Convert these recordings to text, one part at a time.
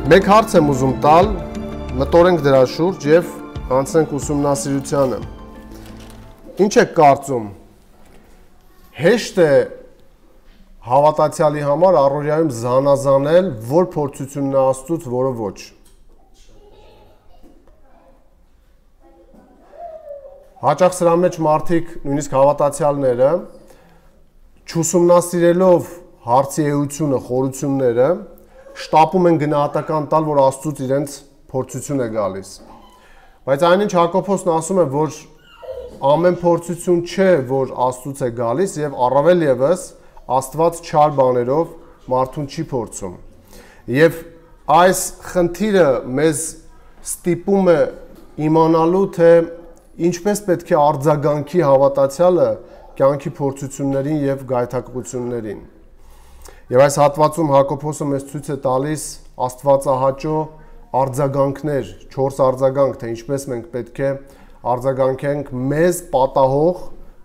Մեկ հարց եմ ուզում տալ, մտորենք դրա շուրջ եւ անցնենք ուսումնասիրությանը։ Ինչ եք կարծում։ Հեշտ է հավատացյալի համար առօրյայում զանազանել, որ փորձությունն է Աստծուց, որը ոչ։ Հաճախ սրա մեջ մարդիկ, նույնիսկ հավատացյալները, չուսումնասիրելով հարցի էությունը, խորությունները, շտապում են գնահատական տալ, որ Աստծուց իրենց փորձություն է գալիս։ Բայց այնինչ Հակոբոսն ասում է, որ ամեն փորձություն չէ, որ Աստծուց է գալիս եւ առավել եւս Աստված չար բաներով մարդուն չի փորձում։ Եվ այս խնդիրը մեզ ստիպում է իմանալու, թե ինչպես պետք է արձագանքի հավատացյալը կյանքի փորձություններին եւ գայթակղություններին։ Եվ այս հատվածում Հակոբոսը մեզ ցույց է տալիս Աստվածահաճո արձագանքներ, 4 արձագանք, թե ինչպես մենք պետք է արձագանքենք մեզ պատահող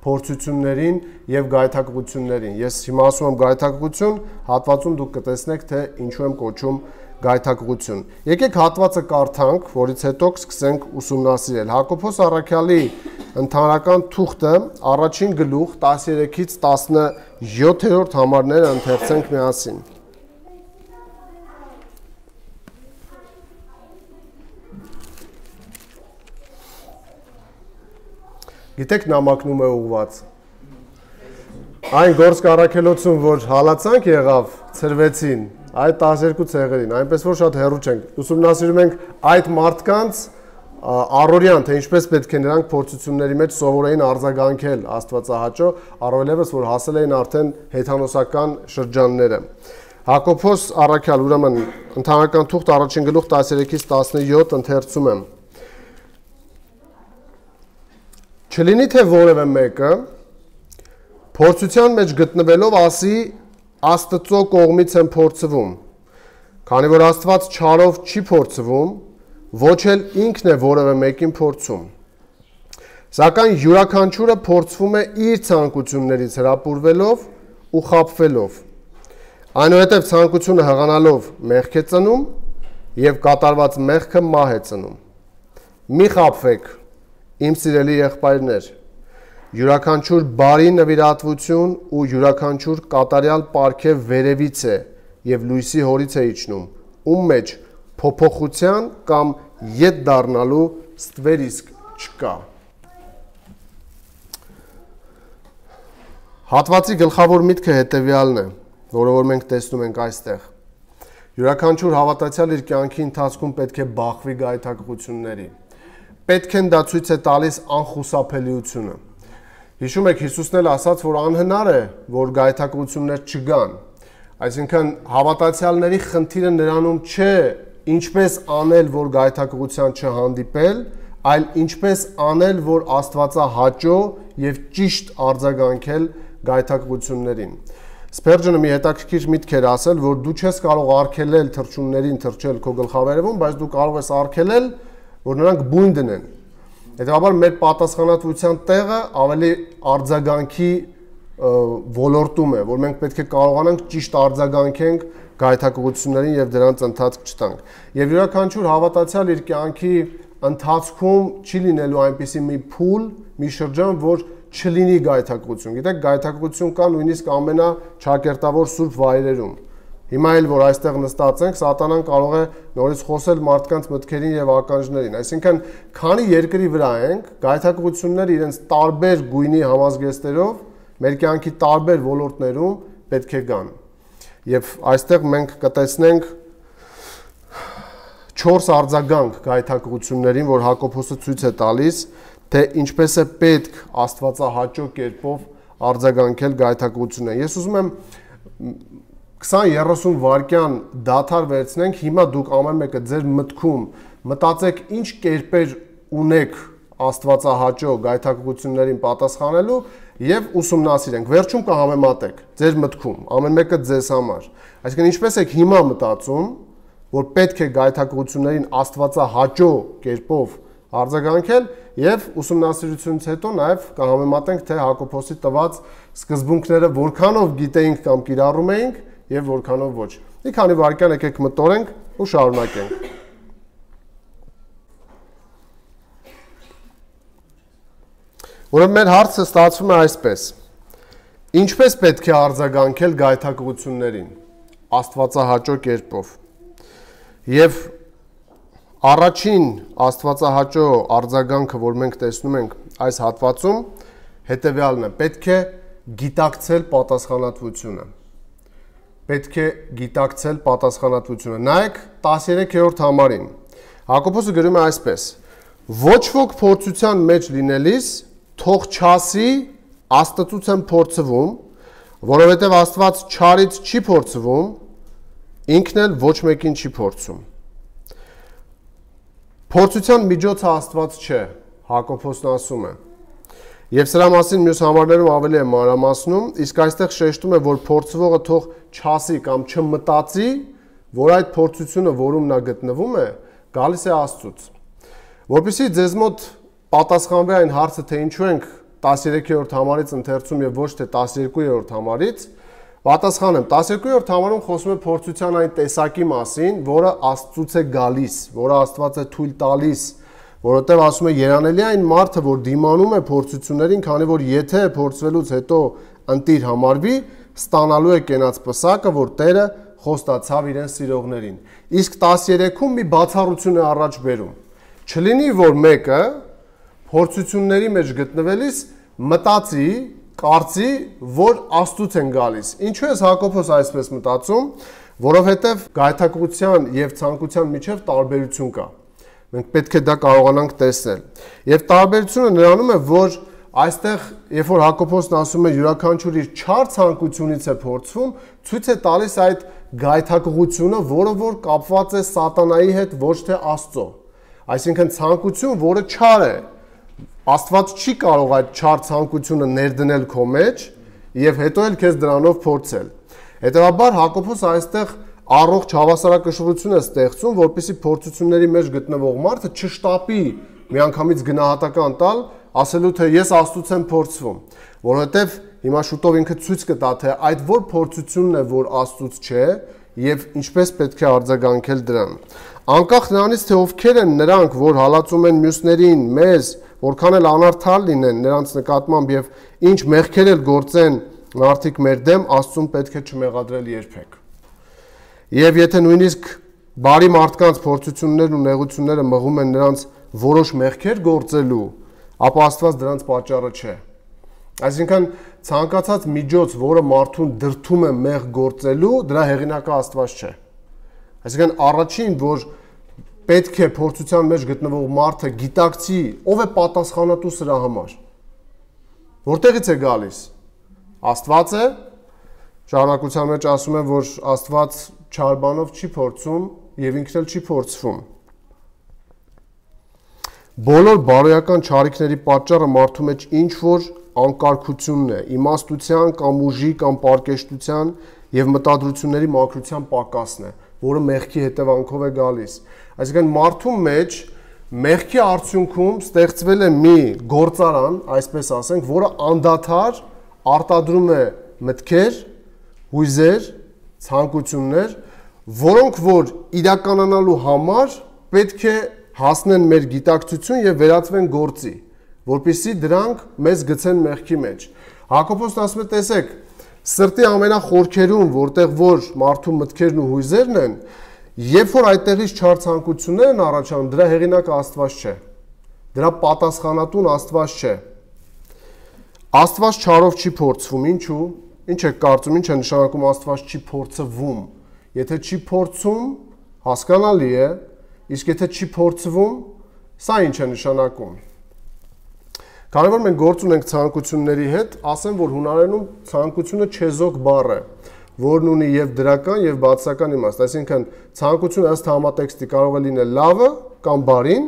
փորձություններին եւ գայթակղություններին։ Ես հիմա ասում եմ գայթակղություն, հատվածում դուք կտեսնեք, թե ինչու եմ կոչում գայթակղություն։ Եկեք հատվածը կարդանք, որից հետո կսկսենք ուսումնասիրել։ Հակոբոս առաքյալի ընդհանրական թուղթը առաջին գլուխ 13-ից 17-րդ համարները ընթերցենք միասին։ Գիտեք նամակնում է ուղված։ Այն գործք առաքելոցում, որ հալածանք եղավ, ծրվեցին, այդ 12 ցեղերին, այնպես որ շատ հեռու չենք։ Ուսումնասիրում ենք այդ մարդկանց առօրյան, թե ինչպես պետք է նրանք փորձությունների մեջ սովորեին արձագանքել Աստվածահաճո, առավելևս որ հասել էին արդեն հեթանոսական շրջանները։ Հակոբոս առաքյալ, ուրեմն ընդհանրական թուղթ առաջին գլուխ 13-ից 17 ընթերցում եմ։ Չլինի թե որևէ մեկը փորձության մեջ գտնվելով ասի Աստծո կողմից եմ փորձվում, քանի որ Աստված չարով չի փորձվում, ոչ էլ ինքն է որևէ մեկին փորձում։ Սակայն յուրաքանչյուրը փորձվում է իր ցանկություններից հրապուրվելով ու խաբվելով։ Այնուհետև ցանկությունը հղանալով մեղք է ծնում եւ կատարված մեղքը մահ է ծնում։ Մի խաբվեք, իմ սիրելի եղբայրներ, յուրաքանչյուր բարի նվիրատվություն ու յուրաքանչյուր կատարյալ պարգև վերևից է եւ լույսի հորից է իջնում, ում մեջ փոփոխության կամ ետ դառնալու ստվերիսկ չկա։ Հատվածի գլխավոր միտքը հետեւյալն է, որը որ մենք տեսնում ենք այստեղ։ Յուրաքանչյուր հավատացյալ իր կյանքի ընթացքում պետք է բախվի գայթակղությունների։ Պետք են դա ցույց է տալիս անխուսափելիությունը։ Հիշում եք Հիսուսն էլ ասաց, որ անհնար է, որ գայթակղություններ չգան։ Այսինքն հավատացյալների խնդիրը նրանում չէ ինչպես անել, որ գայթակղության չհանդիպել, այլ ինչպես անել, որ Աստվածահաճո եւ ճիշտ արձագանքել գայթակղություններին։ Սպերջոնը մի հետաքրքիր միտք էր ասել, որ դու չես կարող արգելել թռչուններին թռչել քո գլխավերևում, բայց դու կարող ես արգելել, որ նրանք բույն դնեն։ Հետևաբար մեր պատասխանատվության տեղը ավելի արձագանքի ոլորտում է, որ մենք պետք է կարողանանք ճիշտ արձագանքենք գայթակղություններին եւ դրանց ընթացք չտանք։ Եվ յուրաքանչյուր հավատացյալ իր կյանքի ընթացքում չի լինելու այնպիսի մի փուլ, մի շրջան, որ չլինի գայթակղություն։ Գիտեք, գայթակղություն կա նույնիսկ ամենաչակերտավոր սուրբ վայրերում։ Հիմա էլ որ այստեղ նստած ենք, սատանան կարող է նորից խոսել մարդկանց մտքերին եւ ականջներին։ Այսինքն, քանի երկրի վրա ենք, գայթակղությունները իրենց տարբեր գույնի համազգեստերով մեր կյանքի տարբեր ոլորտներում պետք է գան։ Եվ այստեղ մենք կտեսնենք 4 արձագանք գայթակղություններին, որ Հակոբոսը ցույց է տալիս, թե ինչպես է պետք Աստվածահաճո կերպով արձագանքել գայթակղություններին։ Ես ուզում եմ 20-30 վայրկյան դադար վերցնենք, հիմա դուք ամեն մեկը ձեր մտքում մտածեք ինչ կերպեր ունեք Աստվածահաճո գայթակղություններին պատասխանելու եւ ուսումնասիրենք։ Վերջում կհամեմատեք ձեր մտքում, ամեն մեկը ձեզ համար։ Այսինքն ինչպես եք հիմա մտածում, որ պետք է գայթակղություններին Աստվածահաճո կերպով արձագանքել եւ ուսումնասիրությունից հետո նաեւ կհամեմատենք, թե Հակոբոսի տված սկզբունքները որքանով գիտեինք կամ կիրառում էինք եւ որքանով ոչ։ Մի քանի վայրկյան եկեք մտորենք ու շարունակենք։ Ուրեմն մեր հարցը ստացվում է այսպես. ինչպես պետք է արձագանքել գայթակղություններին աստվածահաճո կերպով։ Եվ առաջին աստվածահաճո արձագանքը, որ մենք տեսնում ենք այս հատվածում, հետևյալն է. պետք է գիտակցել պատասխանատվությունը։ Պետք է գիտակցել պատասխանատվությունը։ Նայեք 13-րդ համարին։ Հակոբոսը գրում է այսպես. ոչ ոք փորձության մեջ լինելիս թող չասի Աստծուց եմ փորձվում, որովհետև Աստված չարից չի փորձվում, ինքն էլ ոչ մեկին չի փորձում։ Փորձության միջոցը Աստված չէ, Հակոբոսն ասում է։ Եվ սրա մասին մյուս համարներում ավելի է մանրամասնում, իսկ այստեղ շեշտում է, որ փորձվողը թող չասի կամ չմտածի, որ այդ փորձությունը, որում նա գտնվում է, գալիս է Աստծուց։ Որպեսզի ձեզ մոտ պատասխանվի այն հարցը, թե ինչու ենք 13-րդ համարից ընթերցում եւ ոչ թե 12-րդ համարից, պատասխանեմ, 12-րդ համարում խոսում է փորձության այն տեսակի մասին, որը Աստծուց է գալիս, որը Աստված է թույլ տալիս, որովհետև ասում է երանելի այն մարդը, որ դիմանում է փորձություններին, քանի որ եթե փորձվելուց հետո ընտիր համարվի, ստանալու է կենաց պսակը, որ Տերը խոստացավ իրեն սիրողներին։ Իսկ 13-ում մի բացառություն է առաջ բերում։ Չլինի, որ մեկը փորձությունների մեջ գտնվելիս մտածի, կարծի, որ Աստծուց են գալիս։ Ինչու է Հակոբոս այսպես մտածում, որովհետև գայթակղության եւ ցանկության միջև տարբերություն կա։ Մենք պետք է դա կարողանանք տեսնել։ Եվ տարբերությունը նրանում է, որ այստեղ, երբ որ Հակոբոսն ասում է յուրաքանչյուր իր չար ցանկությունից է փորձվում, ցույց է տալիս այդ գայթակղությունը, որը որ կապված է սատանայի հետ, ոչ թե Աստծո։ Այսինքն ցանկություն, որը չար է, Աստված չի կարող այդ չար ցանկությունը ներդնել քո մեջ եւ հետո էլ քեզ դրանով փորձել։ Հետևաբար Հակոբոսը այստեղ առողջ հավասարակշռություն է ստեղծում, որպեսզի փորձությունների մեջ գտնվող մարդը չշտապի միանգամից գնահատական տալ, ասելու թե ես Աստծուց եմ փորձվում, որովհետեւ հիմա շուտով ինքը ցույց կտա, թե այդ որ փորձությունն է, որ Աստծուց չէ եւ ինչպես պետք է արձագանքել դրան։ Անկախ նրանից, թե ովքեր են նրանք, որ հալածում են մյուսներին, մեզ, որքան էլ անարդար լինեն նրանց նկատմամբ եւ ինչ մեղքեր էլ գործեն մարդիկ մեր դեմ, Աստծուն պետք է չմեղադրել երբեք։ Եվ եթե նույնիսկ բարի մարդկանց փորձություններն ու նեղությունները մղում են նրանց որոշ մեղքեր գործելու, ապա Աստված դրանց պատճառը չէ։ Այսինքն ցանկացած միջոց, որը մարդուն դրդում է մեղ գործելու, դրա հեղինակը Աստված չէ։ Այսինքն առաջին, որ պետք է փորձության մեջ գտնվող մարդը գիտակցի, ով է պատասխանատու սրա համար։ Որտեղից է գալիս։ Աստված է, շարունակության մեջ ասում է, որ Աստված չար բանով չի փորձում եւ ինքն էլ չի փորձվում։ Բոլոր բարոյական չարիքների պատճառը մարդու մեջ ինչ որ անկարգությունն է, իմաստության կամ ուժի կամ պարկեշտության եւ մտադրությունների մաքրության պակասն է, որը մեղքի հետևանքով է գալիս։ Այսինքն մարդու մեջ մեղքի արդյունքում ստեղծվել է մի գործարան, այսպես ասենք, որը անդադար արտադրում է մտքեր, հույզեր, ցանկություններ, որոնք որ իրականանալու համար պետք է հասնեն մեր գիտակցություն եւ վերածվեն գործի, որpիսի դրանք մեզ գցեն մեղքի մեջ։ Հակոբոսն ասում է, տեսեք, սրտի ամենախորքերում, որտեղ որ մարդու մտքերն ու հույզերն են, երբ որ այդտեղից չար ցանկություններ են առաջանում, դրա հեղինակը Աստված չէ։ Դրա պատասխանատուն Աստված չէ։ Աստված չարով չի փորձվում, ինչու՞։ Ինչ է կարծում, ինչ է նշանակում Աստված չի փորձվում։ Եթե չի փորձում, հասկանալի է, իսկ եթե չի փորձվում, սա ինչ է նշանակում։ Քանի որ մենք գործ ունենք ցանկությունների հետ, ասեմ, որ հունարենում ցանկությունը չեզոք բառ է, որն ունի եւ դրական եւ բացասական իմաստ, այսինքն ցանկությունը ըստ համատեքստի կարող է լինել լավը կամ բարին,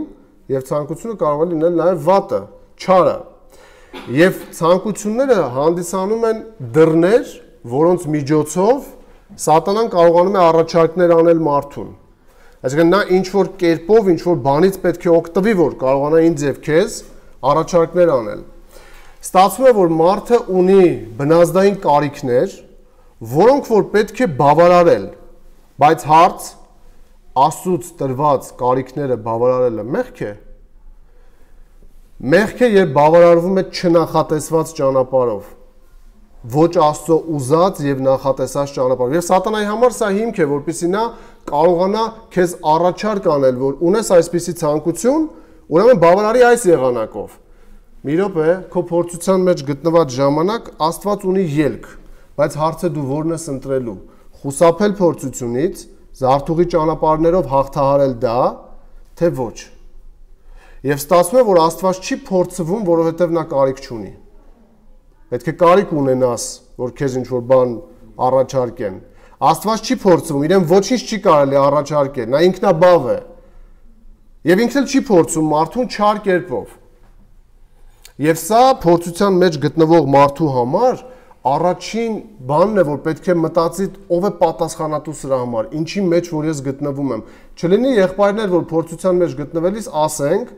եւ ցանկությունը կարող է լինել նաեւ վատը, չարը։ Եվ ցանկությունները հանդիսանում են դռներ, որոնց միջոցով սատանան կարողանում է առաջարկներ անել մարդուն։ Այսինքն նա ինչ որ կերպով, ինչ որ բանից պետք է օգտվի, որ կարողանա ինձ եւ քեզ առաջարկներ անել։ Ստացվում է, որ մարդը ունի բնազդային կարիքներ, որոնք որ պետք է բավարարել, բայց հարց Աստծուց տրված կարիքները բավարարելը մեղք է։ Մեղք է, երբ բավարարվում է չնախատեսված ճանապարհով, ոչ Աստծո ուզած եւ նախատեսած ճանապարհով։ Եվ սատանայի համար սա հիմք է, որպեսզի նա կարողանա քեզ առաջարկ անել, որ ունես այսպիսի ցանկություն, ուրեմն բավարարի այս եղանակով։ Մի րոպե, քո փորձության մեջ գտնված ժամանակ Աստված ունի ելք, բայց հարցը դու որն ես ընտրելու՝ խուսափել փորձությունից, զարթուղի ճանապարհներով հաղթահարել դա, թե ոչ։ Եվ ստացվում է, որ Աստված չի փորձվում, որովհետև նա կարիք չունի։ Պետք է կարիք ունենաս, որ քեզ ինչ-որ բան առաջարկեն։ Աստված չի փորձվում, իրեն ոչինչ չի կարելի առաջարկել, նա ինքնաբավ է։ Եվ ինքն էլ չի փորձում մարդուն չար կերպով։ Եվ սա փորձության մեջ գտնվող մարդու համար առաջին բանն է, որ պետք է մտածի ով է պատասխանատու սրա համար, ինչի մեջ որ ես գտնվում եմ։ Չլինի եղբայրներ, որ փորձության մեջ գտնվելիս ասենք,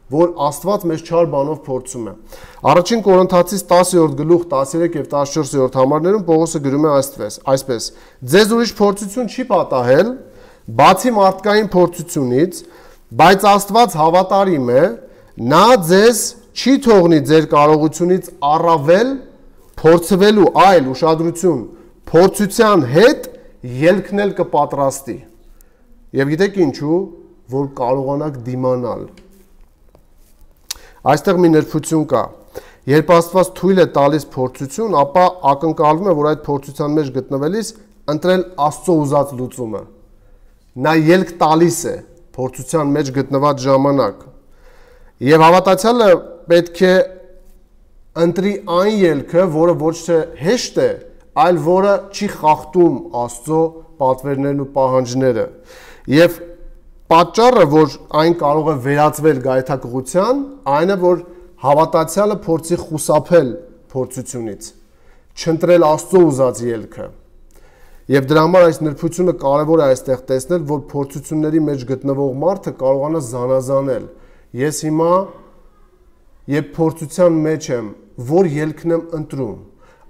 որ Աստված մեզ չար բանով փորձում է։ Առաջին Կորինթացիս 10-րդ գլուխ 13 եւ 14-րդ համարներում Պողոսը գրում է այսպես. Ձեզ ուրիշ փորձություն չի պատահել, բացի մարդկային փորձությունից, բայց Աստված հավատարիմ է, նա ձեզ չի թողնի ձեր կարողությունից առավել փորձվելու, այլ ուշադրություն, փորձության հետ ելքն էլ կպատրաստի։ Եվ գիտեք ինչու, որ կարողանաք դիմանալ։ Այստեղ մի նրբություն կա։ Երբ Աստված թույլ է տալիս փորձություն, ապա ակնկալվում է, որ այդ փորձության մեջ գտնվելիս ընտրել Աստծո ուզած լուծումը։ Նա ելք տալիս է փորձության մեջ գտնված ժամանակ։ Եվ հավատացյալը պետք է ընտրի այն ելքը, որը ոչ թե հեշտ է, այլ որը չի խախտում Աստծո պատվերներն ու պահանջները։ Եվ պատճառը, որ այն կարող է վերածվել գայթակղության, այն է, որ հավատացյալը փորձի խուսափել փորձությունից, չընտրել Աստծո ուզած ելքը։ Եվ դրա համար այս նրբությունը կարևոր է այստեղ տեսնել, որ փորձությունների մեջ գտնվող մարդը կարողանա զանազանել։ Ես հիմա, երբ փորձության մեջ եմ, որ ելքն եմ ընտրում,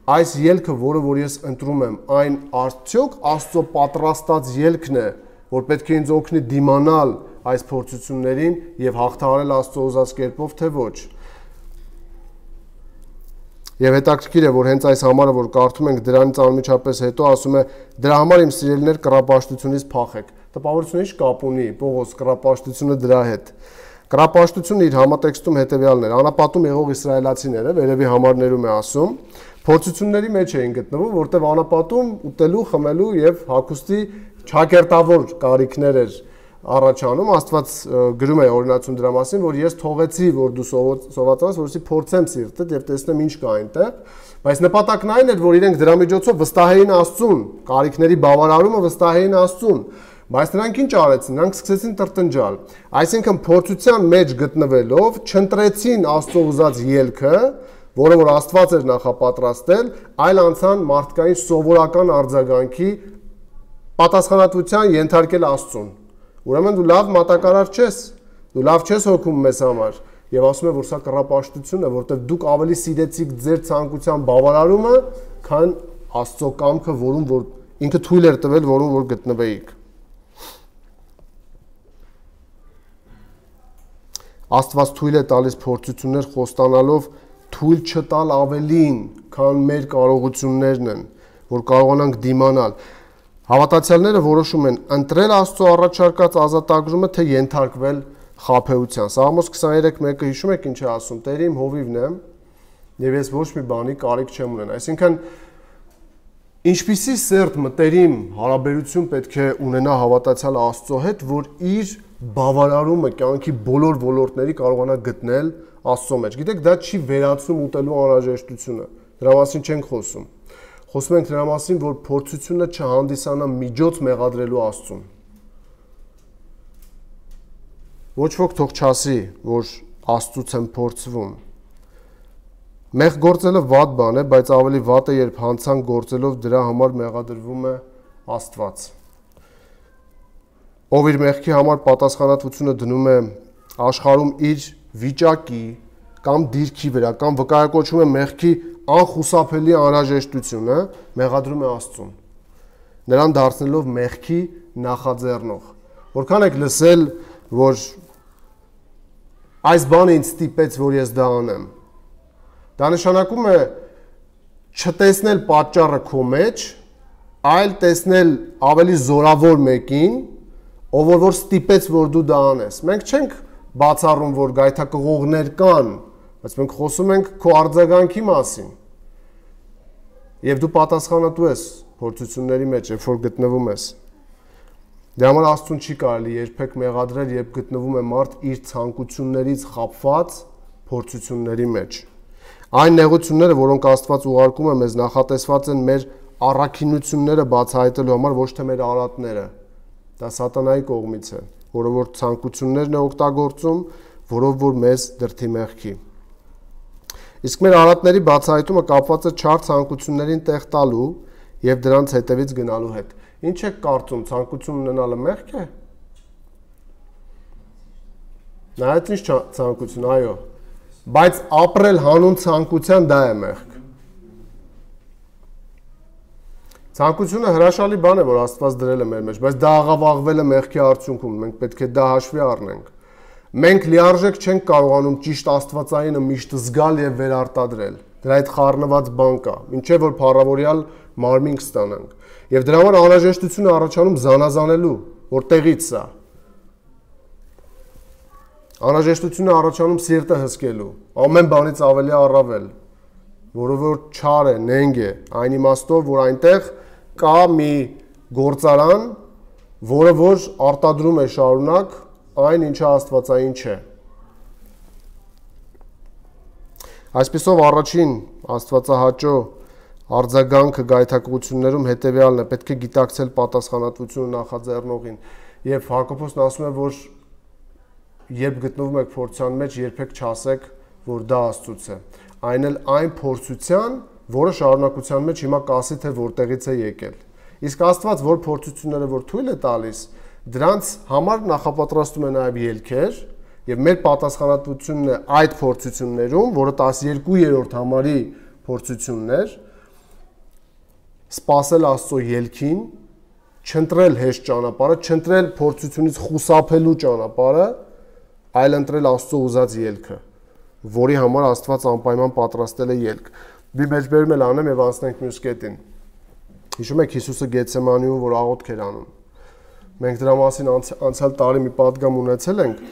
այս ելքը, որը որ ես ընտրում եմ, այն արդյոք Աստծո պատրաստած ելքն է, որ պետք է ինձ օգնի դիմանալ այս փորձություններին եւ հաղթահարել Աստծո ուզած կերպով, թե ոչ։ Եվ հետաքրքիր է, որ հենց այս համարը, որ կարդում ենք դրանից անմիջապես հետո, ասում է. դրա համար իմ սիրելիներ կռապաշտությունից փախեք։ Տպավորությունը ի՞նչ կապ ունի Պողոս կռապաշտությունը դրա հետ։ Կռապաշտությունը իր համատեքստում հետևյալն էր. անապատում եղող իսրայելացիները, վերևի համարներում է ասում, փորձությունների մեջ էին գտնվում, որտեղ անապատում ուտելու, խմելու եւ հագուստի չակերտավոր կարիքներ էր առաջանում, Աստված գրում է օրինացում դրա մասին, որ ես թողեցի, որ դու սովածանաս, որովհետեւ փորձեմ սիրտդ եւ տեսնեմ ինչ կա այնտեղ, բայց նպատակն այն էր, որ իրենք դրա միջոցով վստահեին Աստծուն, կարիքների բավարարումը վստահեին Աստծուն, բայց նրանք ինչ արեցին, նրանք սկսեցին տրտնջալ, այսինքն փորձության մեջ գտնվելով չընտրեցին Աստծո ուզած ելքը, որը որ Աստված էր նախապատրաստել, այլ անցան մարդկային սովորական արձագանքի պատասխանատվության ենթարկել Աստծուն։ Ուրեմն դու լավ մատակարար չես, դու լավ չես հոգում մեզ համար, եւ ասում է, որ սա կռապաշտություն է, որտեղ դուք ավելի սիրեցիք ձեր ցանկության բավարարումը, քան Աստծո կամքը, որում որ ինքը թույլ էր տվել, որում որ գտնվեիք։ Աստված թույլ է տալիս փորձություններ խոստանալով թույլ չտալ ավելին, քան մեր կարողություններն են, որ կարողանանք դիմանալ։ Հավատացյալները որոշում են ընտրել Աստծո առաջարկած ազատագրումը, թե ենթարկվել խաբեության։ Սաղմոս 23:1-ը հիշում եք ինչ է ասում. Տեր իմ հովիվն եմ, եւ ես ոչ մի բանի կարիք չեմ ունենա։ Այսինքն ինչպիսի սերտ մտերիմ հարաբերություն պետք է ունենա հավատացյալը Աստծո հետ, որ իր բավարարումը կյանքի բոլոր ոլորտների կարողանա գտնել Աստծո մեջ։ Գիտեք, դա չի վերացում ուտելու անհրաժեշտությունը։ Դրա մասին չենք խոսում։ Խոսում ենք դրա մասին, որ փորձությունը չհանդիսանա միջոց մեղադրելու Աստծուն։ Ոչ ոք թող չասի, որ Աստծուց եմ փորձվում։ Մեղ գործելը վատ բան է, բայց ավելի վատ է, երբ հանցանք գործելով դրա համար մեղադրվում է Աստված։ Ով իր մեղքի համար պատասխանատվությունը դնում է աշխարհում իր վիճակի կամ դիրքի վրա, կամ վկայակոչում է մեղքի անխուսափելի անհրաժեշտությունը, մեղադրում է Աստծուն, նրան դարձնելով մեղքի նախաձեռնող, Որքան եք լսել, որ այս բանը ինձ ստիպեց, որ ես դա անեմ։ Դա նշանակում է չտեսնել պատճառը քո մեջ, այլ տեսնել ավելի զորավոր մեկին, ով որ ստիպեց, որ դու դա անես։ Մենք չենք բացառում, որ գայթակղողներ կան, բայց մենք խոսում ենք քո արձագանքի մասին։ Եվ դու պատասխանատու ես փորձությունների մեջ, երբ որ գտնվում ես։ Դրա համար Աստծուն չի կարելի երբեք մեղադրել, երբ գտնվում է մարդ իր ցանկություններից խաբված փորձությունների մեջ։ Այն նեղությունները, որոնք Աստված ուղարկում է մեզ, նախատեսված են մեր առաքինությունները բացահայտելու համար, ոչ թե մեր արատները։ Դա սատանայի կողմից է, որը որ ցանկություններն է օգտագործում, որով որ մեզ դրդի մեղքի։ Իսկ մեր արատների բացահայտումը կապված է չար ցանկություններին տեղ տալու եւ դրանց հետևից գնալու հետ։ Ինչ եք կարծում, ցանկություն ունենալը մեղք է։ Նայած ինչ ցանկություն, այո, բայց ապրել հանուն ցանկության դա է մեղք։ Ցանկությունը հրաշալի բան է, որ Աստված դրել է մեր մեջ, բայց դա աղավաղվել է մեղքի արդյունքում, մենք պետք է դա հաշվի առնենք։ Մենք լիարժեք չենք կարողանում ճիշտ Աստվածայինը միշտ զգալ եւ վերարտադրել։ Դրա այդ խառնված բան կա, ինչեւ որ փառավորյալ մարմին կստանանք։ Եվ դրա համար անհրաժեշտություն է առաջանում զանազանելու, որտեղից սա։ Անհրաժեշտություն է առաջանում սիրտը հսկելու, ամեն բանից ավելի առավել, որը որ չար է, նենգ է, այն իմաստով, որ այնտեղ կա մի գործարան, որը որ արտադրում է շարունակ այն ինչը աստվածային չէ։ Այսպիսով առաջին աստվածահաճո արձագանքը գայթակղություններում հետևյալն է, պետք է գիտակցել պատասխանատվությունը նախաձեռնողին։ Եվ Հակոբոսն ասում է, որ երբ գտնվում եք փորձության մեջ, երբեք չասեք, որ դա Աստծուց է։ Այն էլ այն փորձության, որը շարունակության մեջ հիմա կասի, թե որտեղից է եկել։ Իսկ Աստված, որ փորձությունները որ թույլ է տալիս, դրանց համար նախապատրաստում է նաև ելքեր, եւ մեր պատասխանատվությունն է այդ փորձություններում, որը 12-րդ համարի փորձությունն էր, սпасել Աստծո ելքին, չընտրել հեշտ ճանապարհը, չընտրել փորձությունից խուսափելու ճանապարհը, այլ ընտրել Աստծո ուզած ելքը, որի համար Աստված անպայման պատրաստել է ելք։ Մի մեջբերում էլ անեմ եւ անցնենք մյուս կետին։ Հիշում եք Հիսուսը Գեթսեմանիում, որ աղոթք էր անում։ Մենք դրա մասին անցյալ տարի մի պատգամ ունեցել ենք։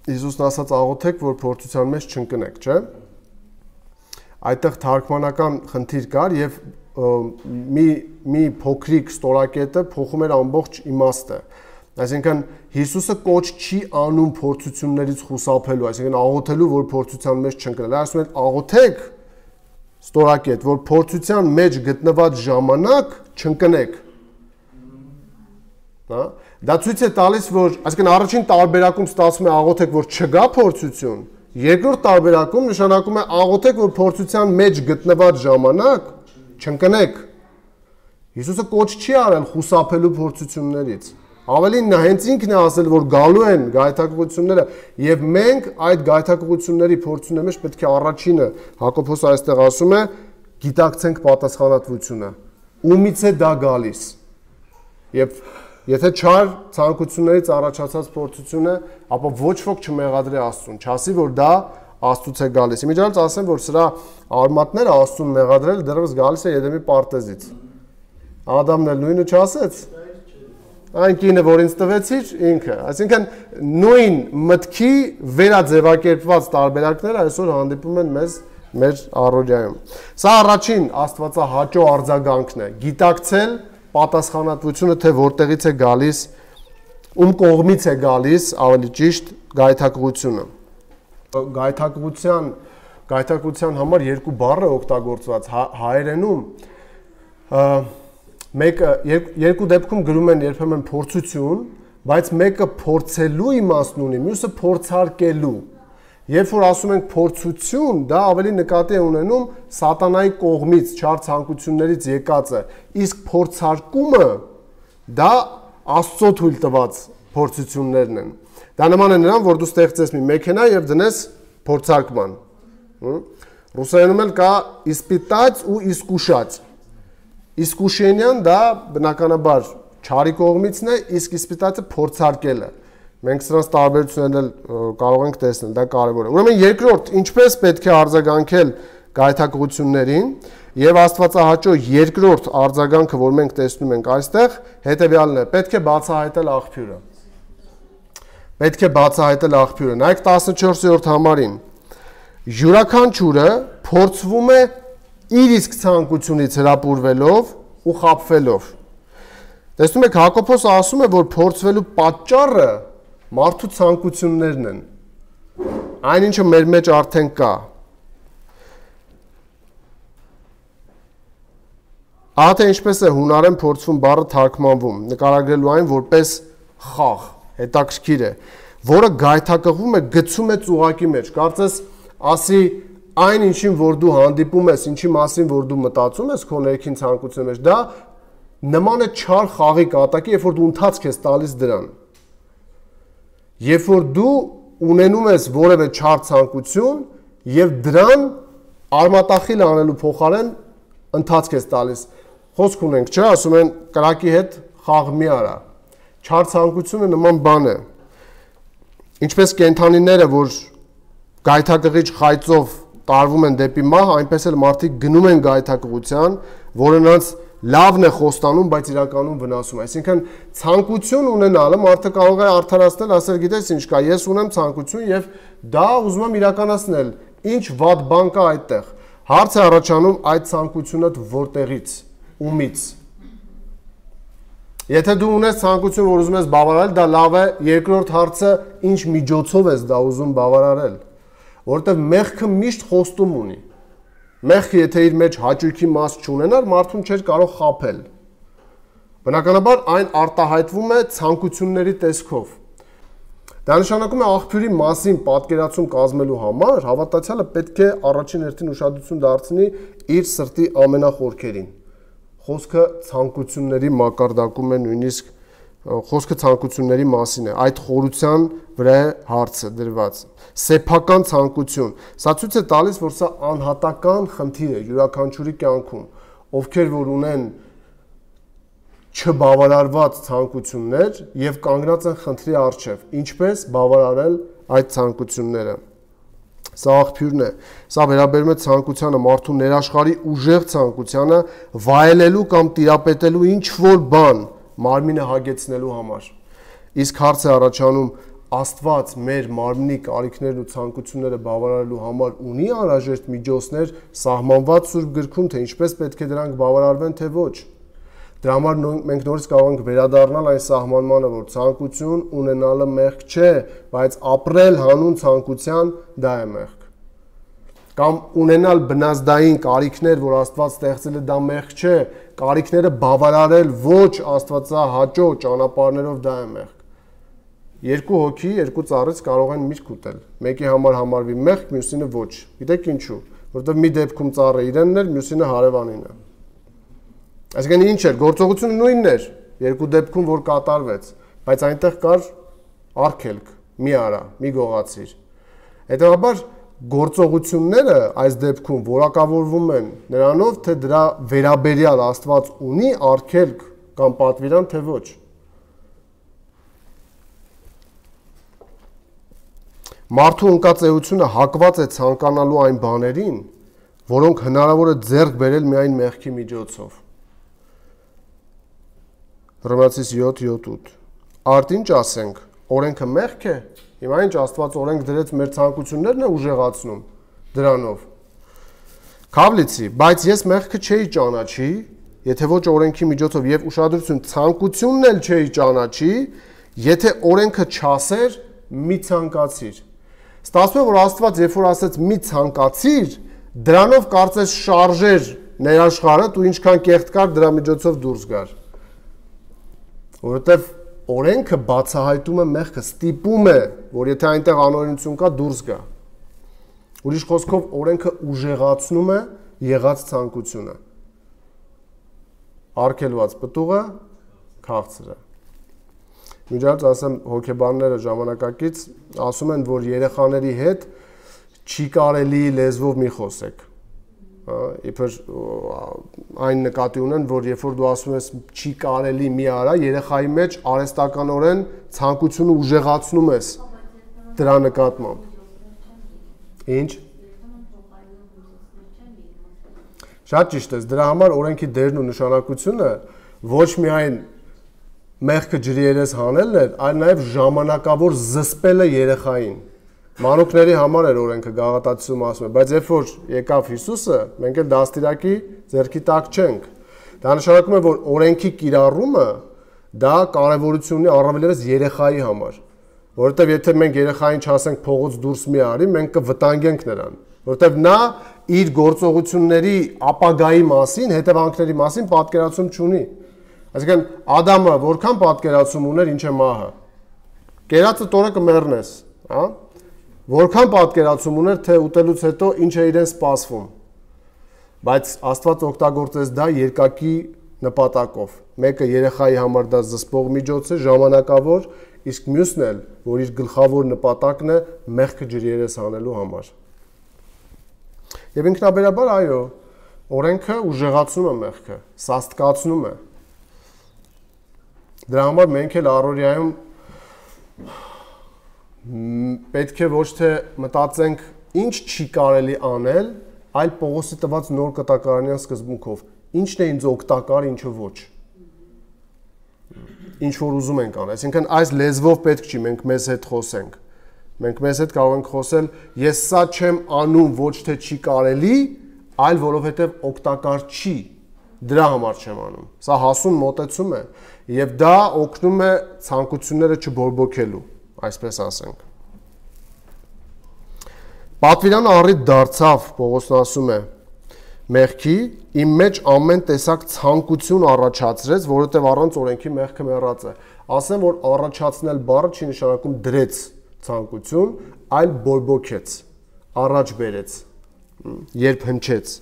Հիսուսն ասաց աղոթեք, որ փորձության մեջ չընկնեք, չէ՞։ Այդտեղ թարգմանական խնդիր կար եւ մի փոքրիկ ստորակետը փոխում էր ամբողջ իմաստը։ Այսինքն Հիսուսը կոչ չի անում փորձություններից խուսափելու, այսինքն աղոթելու, որ փորձության մեջ չընկնել։ Ասում են աղոթեք ստորակետ, որ փորձության մեջ գտնված ժամանակ չընկնեք։ Հա? Դա ցույց է տալիս, որ այսինքն առաջին տարբերակում ստացվում է աղոթեք, որ չգա փորձություն, երկրորդ տարբերակում նշանակում է աղոթեք, որ փորձության մեջ գտնված ժամանակ չընկնեք։ Հիսուսը կոչ չի արել խուսափելու փորձություններից։ Ավելին նա հենց ինքն է ասել, որ գալու են գայթակղությունները, եւ մենք այդ գայթակղությունների փորձությունների մեջ պետք է առաջինը Հակոբոս այստեղ ասում է, գիտակցենք պատասխանատվությունը։ Ումից է դա գալիս։ Եվ եթե չար ցանկություններից առաջացած փորձություն է, ապա ոչ ոք չմեղադրի Աստծուն, չասի, որ դա Աստծուց է գալիս։ Իմիջիայլոց ասեմ, որ սրա արմատները Աստծուն մեղադրել դեռևս գալիս է Եդեմի պարտեզից։ Ադամն էլ նույնը չասեց։ Այն կինը, որ ինձ տվեցիր, ինքը։ Այսինքն նույն մտքի վերաձևակերպված տարբերակները այսօր հանդիպում են մեզ մեր առօրյայում։ Սա առաջին աստվածահաճո արձագանքն է՝ գիտակցել պատասխանատվությունը, թե որտեղից է գալիս, ում կողմից է գալիս, ավելի ճիշտ, գայթակղությունը։ Գայթակղության համար երկու բառ է օգտագործված հայերենում։ Մեկը երկու դեպքում գրում են երբեմն փորձություն, բայց մեկը փորձելու իմաստն ունի, մյուսը փորձարկելու։ Երբ որ ասում ենք փորձություն, դա ավելի նկատի է ունենում սատանայի կողմից, չար ցանկություններից եկածը, իսկ փորձարկումը դա Աստծո թույլ տված փորձություններն են։ Դա նման է նրան, որ դու ստեղծես մի մեքենա եւ դնես փորձարկման։ Ռուսերենում էլ կա իսպիտած ու իսկուշած։ Իսկուշենյան դա բնականաբար չարի կողմիցն է, իսկ իսպիտացը փորձարկելը։ Մենք սրանց տարբերություններն կարող ենք տեսնել, դա կարևոր է։ Ուրեմն երկրորդ, ինչպես պետք է արձագանքել գայթակղություններին, եւ աստվածահաճո երկրորդ արձագանքը, որ մենք տեսնում ենք այստեղ, հետեւյալն է. պետք է բացահայտել աղբյուրը։ Պետք է բացահայտել աղբյուրը։ Նայեք 14-րդ համարին։ Յուրաքանչյուրը փորձվում է իր իսկ ցանկությունից հրապուրվելով ու խաբվելով։ Տեսնում եք, Հակոբոս ասում է, որ փորձվելու պատճառը մարդու ցանկություններն են։ Այն ինչը մեր մեջ արդեն կա։ Ահա թե ինչպես է հունարեն փորձվում բառը թարգմանվում, նկարագրելու այն որպես խաղ, հետաքրքիր է, որը գայթակղվում է, գցում է ծուղակի մեջ։ Կարծես ասի այն ինչին, որ դու հանդիպում ես, ինչի մասին, որ դու մտածում ես քո ներքին ցանկության մեջ, դա նման է չար խաղի կատակի, երբ որ դու ընթացք ես տալիս դրան։ Երբ որ դու ունենում ես որևէ չար ցանկություն եւ դրան արմատախիլ անելու փոխարեն ընթացք ես տալիս։ Խոսք ունենք, չէ՞, ասում են կրակի հետ խաղ մի արա։ Չար ցանկությունը նման բան է։ Ինչպես կենդանիները, որ գայթակղիչ խայծով տարվում են դեպի մահ, այնպես էլ մարդիկ գնում են գայթակղության, որը նրանց լավն է խոստանում, բայց իրականում վնասում է։ Այսինքն ցանկություն ունենալը մարդը կարող է արդարացնել, ասել գիտես ինչ կա, ես ունեմ ցանկություն եւ դա ուզում եմ իրականացնել։ Ինչ վատ բան կա այդտեղ։ Հարց է առաջանում այդ ցանկությունը որտեղից, ումից։ Եթե դու ունես ցանկություն, որ ուզում ես բավարարել, դա լավ է, երկրորդ հարցը ինչ միջոցով ես դա ուզում բավարարել, որովհետեւ մեղքը միշտ խոստում ունի։ Մեղքը եթե իր մեջ հաճույքի մաս չունենար, մարդուն չէր կարող խաբել։ Բնականաբար այն արտահայտվում է ցանկությունների տեսքով։ Դա նշանակում է աղբյուրի մասին պատկերացում կազմելու համար հավատացյալը պետք է առաջին հերթին ուշադրություն դարձնի իր սրտի ամենախորքերին։ Խոսքը ցանկությունների մակարդակում է, նույնիսկ խոսքը ցանկությունների մասին է, այդ խորության վրա է հարցը դրված։ Սեփական ցանկություն։ Սա ցույց է տալիս, որ սա անհատական խնդիր է յուրաքանչյուրի կյանքում, ովքեր որ ունեն չբավարարված ցանկություններ եւ կանգնած են խնդրի առջև, ինչպես բավարարել այդ ցանկությունները։ Սա աղբյուրն է։ Սա վերաբերում է ցանկությանը, մարդու ներաշխարհի ուժեղ ցանկությանը վայելելու կամ տիրապետելու ինչ որ բան մարմինը հագեցնելու համար։ Իսկ հարց է առաջանում Աստված մեր մարմնի կարիքներն ու ցանկությունները բավարարելու համար ունի անհրաժեշտ միջոցներ սահմանված Սուրբ գրքում, թե ինչպես պետք է դրանք բավարարվեն, թե ոչ։ Դրա համար մենք նորից կարող ենք վերադառնալ այն սահմանմանը, որ ցանկություն ունենալը մեղք չէ, բայց ապրել հանուն ցանկության դա է մեղք։ Կամ ունենալ բնազդային կարիքներ, որ Աստված ստեղծել է, դա մեղք չէ, կարիքները բավարարել ոչ աստվածահաճո ճանապարհներով դա է մեղք։ Երկու հոգի, երկու ծառից կարող են միրգ ուտել։ Մեկի համար համարվի մեղք, մյուսինը ոչ։ Գիտեք ինչու։ Որովհետև մի դեպքում ծառը իրենն էր, մյուսինը հարևանինը։ Այսինքն ինչ էր, գործողությունը նույնն էր, երկու դեպքում որ կատարվեց, բայց այնտեղ կար արգելք՝ մի արա, մի գողացիր։ Հետևաբար գործողությունները այս դեպքում որակավորվում են նրանով, թե դրա վերաբերյալ Աստված ունի արգելք կամ պատվիրան, թե ոչ։ Մարդու ընկած հակված է ցանկանալու այն բաներին, որոնք հնարավոր է ձեռք բերել միայն մեղքի միջոցով։ Հռոմեացիս 7:7 Արդ ինչ ասենք, օրենքը մեղք է, հիմա ինչ Աստված օրենք դրեց մեր ցանկություններն է ուժեղացնում դրանով։ Քավլիցի, բայց ես մեղքը չէի ճանաչի, եթե ոչ օրենքի միջոցով եւ ուշադրություն ցանկությունն էլ չէի ճանաչի, եթե օրենքը չասեր, մի ցանկացիր։ Ստացվում է, որ Աստված երբ որ ասեց մի ցանկացիր, դրանով կարծես շարժեր ներաշխարհը, ու ինչքան կեղտ կար դրա միջոցով դուրս գար։ Որովհետև օրենքը բացահայտում է մեղքը, ստիպում է, որ եթե այնտեղ անօրենություն կա, դուրս գա։ Ուրիշ խոսքով օրենքը ուժեղացնում է եղած ցանկությունը։ Արգելված պտուղը քաղցր է։ Միջած ասեմ հոգեբանները ժամանակակից ասում են, որ երեխաների հետ չի կարելի լեզվով մի խոսեք։ իբր այն նկատի ունեն, որ երբ որ դու ասում ես չի կարելի մի արա, երեխայի մեջ արհեստականորեն ցանկությունը ուժեղացնում ես դրա նկատմամբ։ Ինչ։ Շատ ճիշտ ես, դրա համար օրենքի դերն ու նշանակությունը ոչ միայն մեղքը ջրի երես հանելն էր, այլ նաև ժամանակավոր զսպելը երեխային։ Մանուկների համար էր օրենքը գաղատացիում ասում է, բայց երբ որ եկավ Հիսուսը, մենք էլ դաստիարակի ձեռքի տակ չենք։ Դա նշանակում է, որ օրենքի կիրառումը դա կարևորություն ունի առավելևս երեխայի համար, որովհետև եթե մենք երեխային չասենք փողոց դուրս մի արի, մենք կվտանգենք նրան, որովհետև նա իր գործողությունների ապագայի մասին, հետևանքների մասին պատկերացում չունի։ Այսինքն Ադամը որքան պատկերացում ուներ, ինչ է մահը։ Կերածը տորը կմեռնես, հա։ Որքան պատկերացում ուներ, թե ուտելուց հետո ինչ է իրեն սպասվում։ Բայց Աստված օգտագործեց դա երկակի նպատակով։ Մեկը երեխայի համար դա զսպող միջոց է, ժամանակավոր, իսկ մյուսն էլ, որ իր գլխավոր նպատակն է մեղքը ջրի երես հանելու համար։ Եվ ինքնաբերաբար այո, օրենքը ուժեղացնում է մեղքը, սաստկացնում է։ Դրա համար մենք էլ առօրյայում պետք է ոչ թե մտածենք ինչ չի կարելի անել, այլ Պողոսի տված նոր կտակարանյան սկզբունքով, ինչն է ինձ օգտակար, ինչը ոչ։ Ինչ որ ուզում ենք անել, այսինքն այս լեզվով պետք չի մենք մեզ հետ խոսենք։ Մենք մեզ հետ կարող ենք խոսել, ես սա չեմ անում, ոչ թե չի կարելի, այլ որովհետև օգտակար չի, դրա համար չեմ անում։ Սա հասուն մոտեցում է, եւ դա օգնում է ցանկությունները չբորբոքելու, այսպես ասենք։ Պատվիրանը առիթ դարձավ, Պողոսն ասում է, մեղքի իմ մեջ ամեն տեսակ ցանկություն առաջացրեց, որովհետև առանց օրենքի մեղքը մեռած է։ Ասեմ, որ առաջացնել բառը չի նշանակում դրեց ցանկություն, այլ բորբոքեց, առաջ բերեց, երբ հնչեց։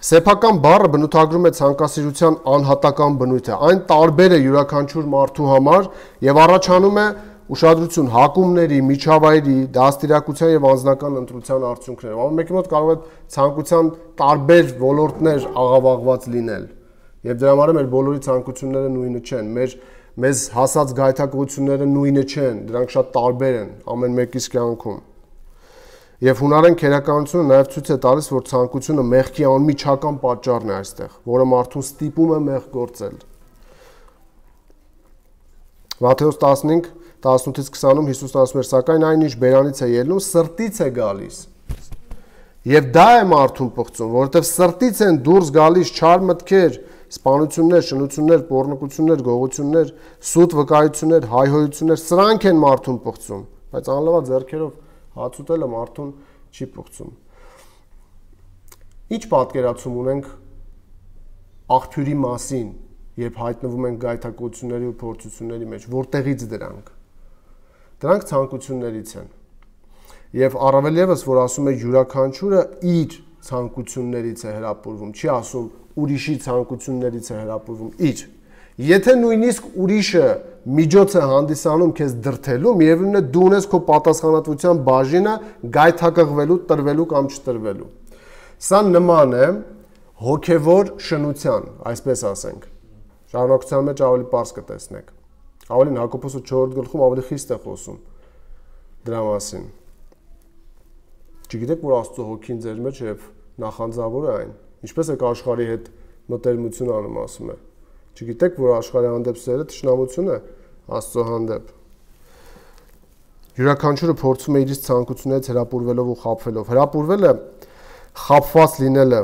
Սեփական բառը բնութագրում է ցանկասիրության անհատական բնույթը, այն տարբեր է յուրաքանչյուր մարդու համար եւ առաջանում է ուշադրություն հակումների, միջավայրի, դաստիարակության եւ անձնական ընտրության արդյունքներով։ Ամեն մեկի մոտ կարող է ցանկության տարբեր ոլորտներ աղավաղված լինել։ Եվ դրա համար մեր բոլորի ցանկությունները նույնը չեն, մեզ հասած գայթակղությունները նույնը չեն, դրանք շատ տարբեր են ամեն մեկիս կյանքում։ Եվ հունարեն քերականությունը նաև ցույց է տալիս, որ ցանկությունը մեղքի անմիջական պատճառն է այստեղ, որը մարդուն ստիպում է մեղք գործել։ Մատթեոս 15:18-20-ում Հիսուսն ասում էր, սակայն այն ինչ բերանից է ելնում, սրտից է գալիս։ Եվ դա է մարդուն պղծում, որովհետև սրտից են դուրս գալիս չար մտքեր, սպանություններ, շնություններ, պոռնկություններ, գողություններ, սուտ վկայություններ, հայհոյություններ, սրանք են մարդուն պղծում, բայց անլավա ձեռքերով հաց ուտելը մարդուն չի պղծում։ Ինչ պատկերացում ունենք աղբյուրի մասին, երբ հայտնվում ենք գայթակղությունների ու փորձությունների մեջ, որտեղից դրանք։ Դրանք ցանկություններից են։ Եվ առավել ևս, որ ասում է յուրաքանչյուրը իր ցանկություններից է հրապուրվում, չի ասում ուրիշի ցանկություններից է հրապուրվում, իր։ Եթե նույնիսկ ուրիշը միջոց է հանդիսանում քեզ դրթելու, միևնույնն է դու ունես քո պատասխանատվության բաժինը գայթակղվելու, տրվելու կամ չտրվելու։ Սա նման է հոգևոր շնության, այսպես ասենք։ Շարունակության մեջ ավելի պարզ կտեսնեք։ Ավելին Հակոբոս 4-րդ գլխում ավելի խիստ է խոսում դրա մասին։ Չգիտեք, որ Աստծո հոգին ձեր մեջ եւ նախանձավոր է այն։ Ինչպես եք աշխարհի հետ մտերմություն անում, ասում է։ Չգիտեք, որ աշխարհի հանդեպ սերը թշնամություն է Աստծո հանդեպ։ Յուրաքանչյուրը փորձում է իր ցանկություններից հրապուրվելով ու խաբվելով։ Հրապուրվելը խաբված լինելը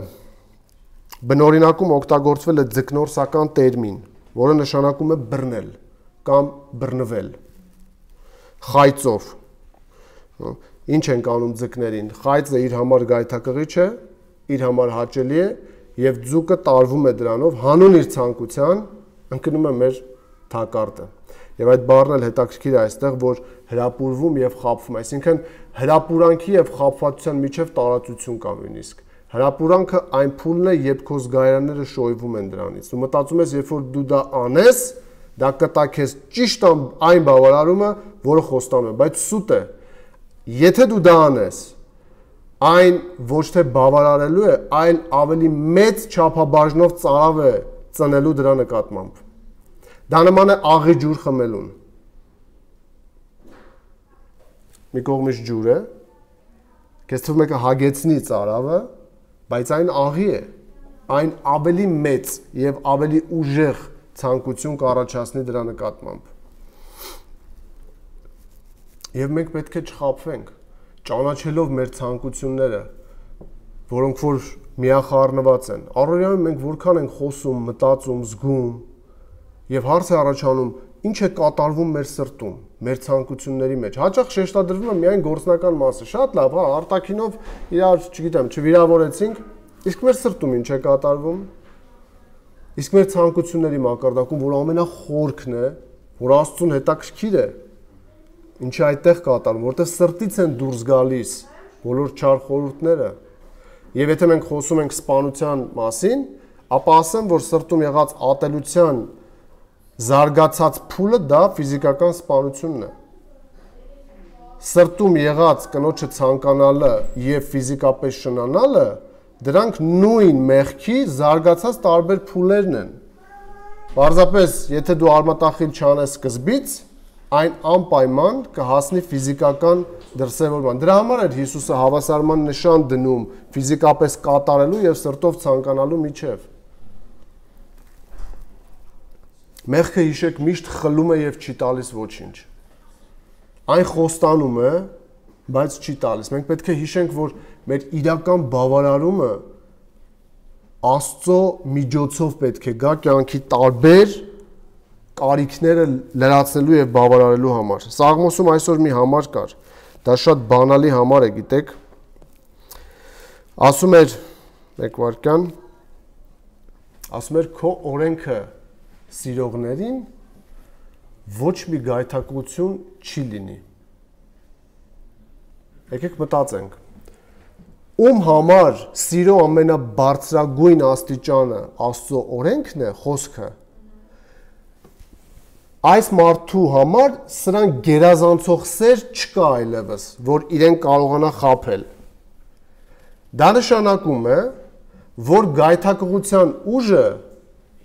բնօրինակում օգտագործվել է ձկնորսական տերմին, որը նշանակում է բռնել կամ բռնվել խայծով։ Ինչ են անում ձկներին։ Խայծը իր համար գայթակղիչ է, իր համար հաճելի է եւ ձուկը տարվում է դրանով, հանուն իր ցանկության ընկնում է մեր թակարդը։ Եվ այդ բառն էլ հետաքրքիր է այստեղ, որ հրապուրվում եւ խաբվում, այսինքն հրապուրանքի եւ խաբվածության միջև տարածություն կա նույնիսկ։ Հրապուրանքը այն փուլն է, երբ քո զգայարանները շոյվում են դրանից։ Դու մտածում ես, երբ որ դու դա անես, դա կտա քեզ ճիշտ այն բավարարումը, որը խոստանում է, բայց սուտ է։ Եթե դու դա անես, այն ոչ թե բավարարելու է, այլ ավելի մեծ չափաբաժնով ծարավ է ծնելու դրա նկատմամբ։ Դա նման է աղի ջուր խմելուն։ Մի կողմից ջուր է, քեզ թվում է կհագեցնի ծարավը, բայց այն աղի է, այն ավելի մեծ եւ ավելի ուժեղ ցանկություն կառաջացնի դրա նկատմամբ։ Եվ մենք պետք է չխաբվենք, ճանաչելով մեր ցանկությունները, որոնք որ միախառնված են։ Առօրյայում մենք որքան ենք խոսում, մտածում, զգում, եւ հարց է առաջանում, ինչ է կատարվում մեր սրտում, մեր ցանկությունների մեջ։ Հաճախ շեշտադրվում է միայն գործնական մասը։ Շատ լավ, հա, արտաքինով իրար, չգիտեմ, չվիրավորեցինք, իսկ մեր սրտում ինչ է կատարվում։ Իսկ մեր ցանկությունների մակարդակում, որ ամենախորքն է, որ Աստծուն հետաքրքիր է, ինչի այդտեղ կատարում, որտեղ սրտից են դուրս գալիս բոլոր չար խորհուրդները։ Եվ եթե մենք խոսում ենք սպանության մասին, ապա ասեմ, որ սրտում եղած ատելության զարգացած փուլը դա ֆիզիկական սպանությունն է։ Սրտում եղած կնոջը ցանկանալը եւ ֆիզիկապես շնանալը, դրանք նույն մեղքի զարգացած տարբեր փուլերն են։ Պարզապես, եթե դու արմատախիլ չանես սկզբից, այն անպայման կհասնի ֆիզիկական դրսևորման։ Դրա համար էր Հիսուսը հավասարման նշան դնում ֆիզիկապես կատարելու եւ սրտով ցանկանալու միջև։ Մեղքը հիշեք միշտ խլում է եւ չի տալիս ոչինչ։ Այն խոստանում է, բայց չի տալիս։ Մենք պետք է հիշենք, որ մեր իրական բավարարումը Աստծո միջոցով պետք է գա կյանքի տարբեր կարիքները լրացնելու եւ բավարարելու համար։ Սաղմոսում այսօր մի համար կար։ Դա շատ բանալի համար է, գիտեք։ Ասում էր մեկ վարքյան, ասում էր քո օրենքը սիրողներին ոչ մի գայթակղություն չի լինի։ Եկեք մտածենք։ Ում համար սիրո ամենաբարձրագույն աստիճանը Աստծո օրենքն է, խոսքը։ Այս մարդու համար սրան գերազանցող սեր չկա այլևս, որ իրեն կարողանա խաբել։ Դա նշանակում է, որ գայթակղության ուժը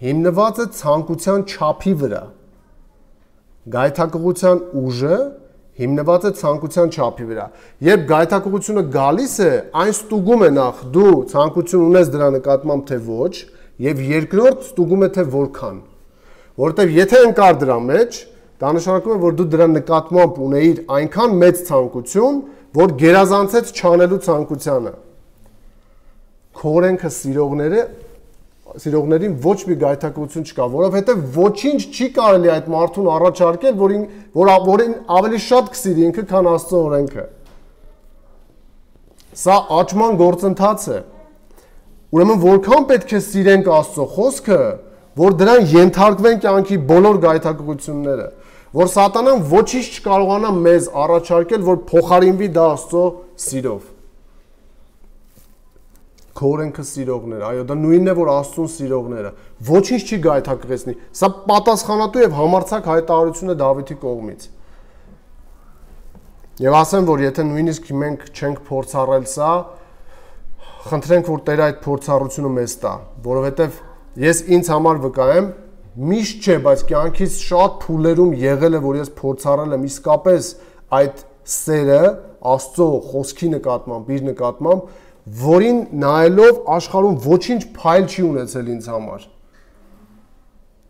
հիմնված է ցանկության չափի վրա։ Գայթակղության ուժը հիմնված է ցանկության չափի վրա։ Երբ գայթակղությունը գալիս է, այն ստուգում է նախ դու ցանկություն ունես դրա նկատմամբ թե ոչ, եւ երկրորդ ստուգում է թե որքան։ Որտեւ եթե ընկար դրա մեջ, դա նշանակում է, որ դու դրա նկատմամբ ունեիր այնքան մեծ ցանկություն, որ գերազանցեց չանելու ցանկությանը։ Քո օրենքը սիրողներին ոչ մի գայթակղություն չկա, որովհետեւ ոչինչ չի կարելի այդ մարդուն առաջարկել, որին ավելի շատ կսիրի ինքը, քան Աստծո օրենքը։ Սա աճման գործընթաց է։ Ուրեմն որքան պետք է սիրենք Աստծո խոսքը, որ դրան ենթարկվեն կյանքի բոլոր գայթակղությունները, որ սատանան ոչինչ չկարողանա մեզ առաջարկել, որ փոխարինվի դա Աստծո սիրով։ Քո օրենքը սիրողներ, այո, դա նույնն է, որ Աստծուն սիրողները, ոչինչ չի գայթակղեցնի։ Սա պատասխանատու եւ համարձակ հայտարարություն է Դավիթի կողմից։ Եվ ասեմ, որ եթե նույնիսկ մենք չենք փորձառել սա, խնդրենք, որ Տերը այդ փորձառությունը մեզ տա, որովհետեւ ես ինձ համար վկայեմ, միշտ չէ, բայց կյանքից շատ փուլերում եղել է, որ ես փորձառել եմ իսկապես այդ սերը Աստծո խոսքի նկատմամբ, իր նկատմամբ, որին նայելով աշխարհում ոչինչ փայլ չի ունեցել ինձ համար։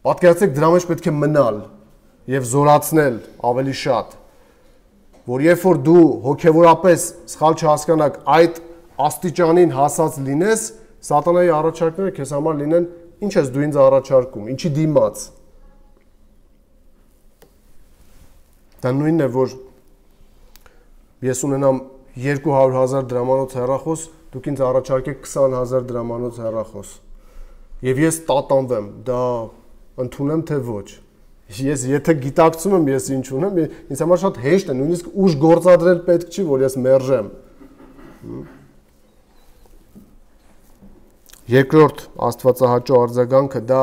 Պատկերացրեք, դրա մեջ պետք է մնալ եւ զորացնել ավելի շատ, որ երբ որ դու հոգեվորապես սխալ չհասկանաք այդ աստիճանին հասած լինես, սատանայի առաջարկները քեզ համար լինեն, ինչ ես դու ինձ առաջարկում, ինչի դիմաց։ Դա նույնն է, որ ես ունենամ 200,000 դրամանոց հեռախոս, դուք ինձ առաջարկեք 20,000 դրամանոց հեռախոս։ Եվ ես տատանվեմ, դա ընդունեմ թե ոչ։ Ես եթե գիտակցում եմ ես ինչ ունեմ, ինձ համար շատ հեշտ է, նույնիսկ ուժ գործադրել պետք չի, որ ես մերժեմ։ Երկրորդ աստվածահաճո արձագանքը դա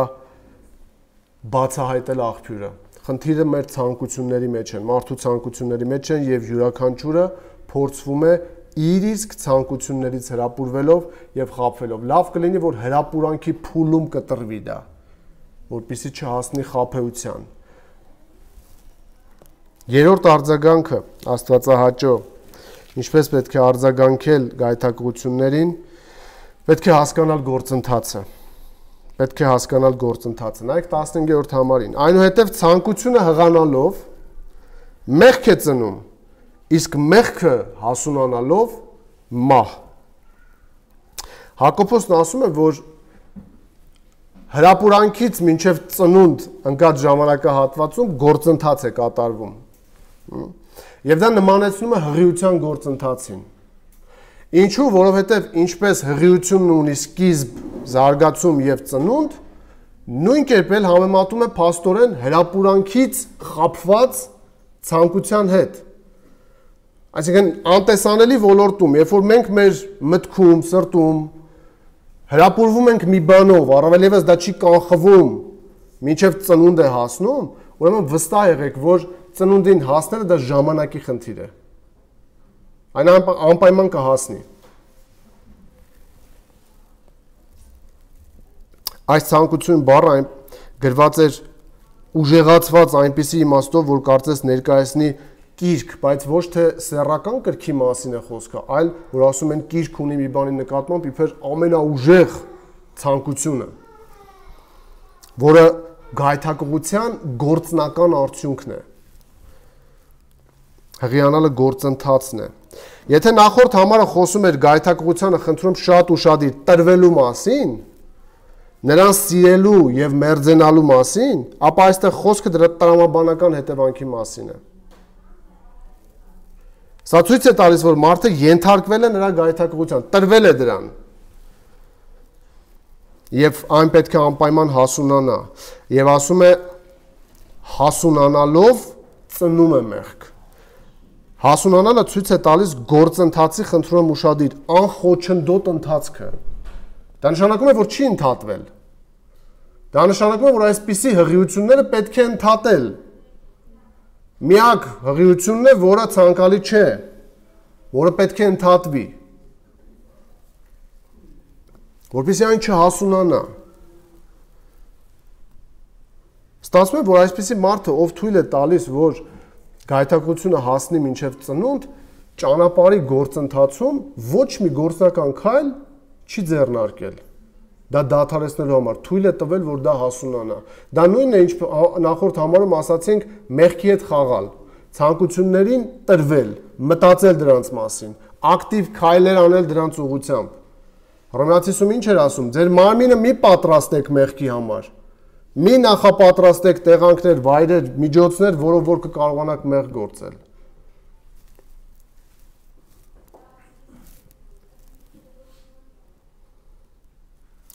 բացահայտել աղբյուրը։ Խնդիրը մեր ցանկությունների մեջ են, մարդու ցանկությունների մեջ են եւ յուրաքանչյուրը փորձվում է իր իսկ ցանկություններից հրապուրվելով եւ խաբվելով։ Լավ կլինի, որ հրապուրանքի փուլում կտրվի դա, որպեսզի չհասնի խաբեության։ Երրորդ արձագանքը Աստվածահաճո, ինչպես պետք է արձագանքել գայթակղություններին, պետք է հասկանալ գործընթացը։ Պետք է հասկանալ գործընթացը։ Նայեք 15-րդ համարին։ Այնուհետև ցանկությունը հղանալով մեղք է ծնում, իսկ մեղքը հասունանալով մահ։ Հակոբոսն ասում է, որ հրապուրանքից մինչև ծնունդ ընկած ժամանակահատվածում գործընթաց է կատարվում։ Եվ դա նմանեցնում է հղիության գործընթացին։ Ինչու, որովհետև ինչպես հղիությունն ունի սկիզբ, զարգացում եւ ծնունդ, նույն կերպ էլ համեմատում է փաստորեն հրապուրանքից խաբված ցանկության հետ։ Այսինքն անտեսանելի ոլորտում, երբ որ մենք մեր մտքում, սրտում հրապուրվում ենք մի բանով, առավել եւս դա չի կանխվում, մինչև ծնունդ է հասնում, ուրեմն վստահ եղեք, որ ծնունդին հասնելը դա ժամանակի խնդիր է։ Այն անպայման կհասնի։ Այս ցանկություն բառը գրված էր ուժեղացված այնպիսի իմաստով, որ կարծես ներկայացնի կիրք, բայց ոչ թե սեռական կրքի մասին է խոսքը, այլ որ ասում են կիրք ունի մի բանի նկատմամբ իբր ամենաուժեղ ցանկությունը, որը գայթակղության գործնական արդյունքն է։ Հղիանալը գործընթացն է։ Եթե նախորդ համարը խոսում էր գայթակղությանը խնդրում շատ ուշադիր տրվելու մասին, նրան սիրելու եւ մերձենալու մասին, ապա այստեղ խոսքը դրա տրամաբանական հետևանքի մասին է։ Սա ցույց է տալիս, որ մարդը ենթարկվել է նրա գայթակղության, տրվել է դրան։ Եվ այն պետք է անպայման հասունանա։ Եվ ասում է հասունանալով ծնում է մեղք։ Հասունանալը ցույց է տալիս գործընթացի խնդրում ուշադիր անխոչնդոտ ընթացքը։ Դա նշանակում է, որ չի ընդհատվել։ Դա նշանակում է, որ այսպիսի հղիությունները պետք է ընդհատել։ Միակ հղիությունն է, որը ցանկալի չէ, որը պետք է ընդհատվի, որպեսզի այն չհասունանա։ Ստացվում է, որ այսպիսի մարդը, ով թույլ է տալիս, որ գայթակղությունը հասնի մինչև ծնունդ, ճանապարհի գործընթացում ոչ մի գործնական քայլ չի ձեռնարկել։ Դա դադարեցնելու համար թույլ է տվել, որ դա հասունանա։ Դա նույնն է, ինչ նախորդ համարում ասացինք, մեղքի հետ խաղալ, ցանկություններին տրվել, մտածել դրանց մասին, ակտիվ քայլեր անել դրանց ուղղությամբ։ Հռոմեացիում ինչ էր ասում. ձեր մարմինը մի պատրաստեք մեղքի համար։ Մի նախապատրաստեք տեղանքներ, վայրեր, միջոցներ, որով որ կկարողանաք մեղք գործել։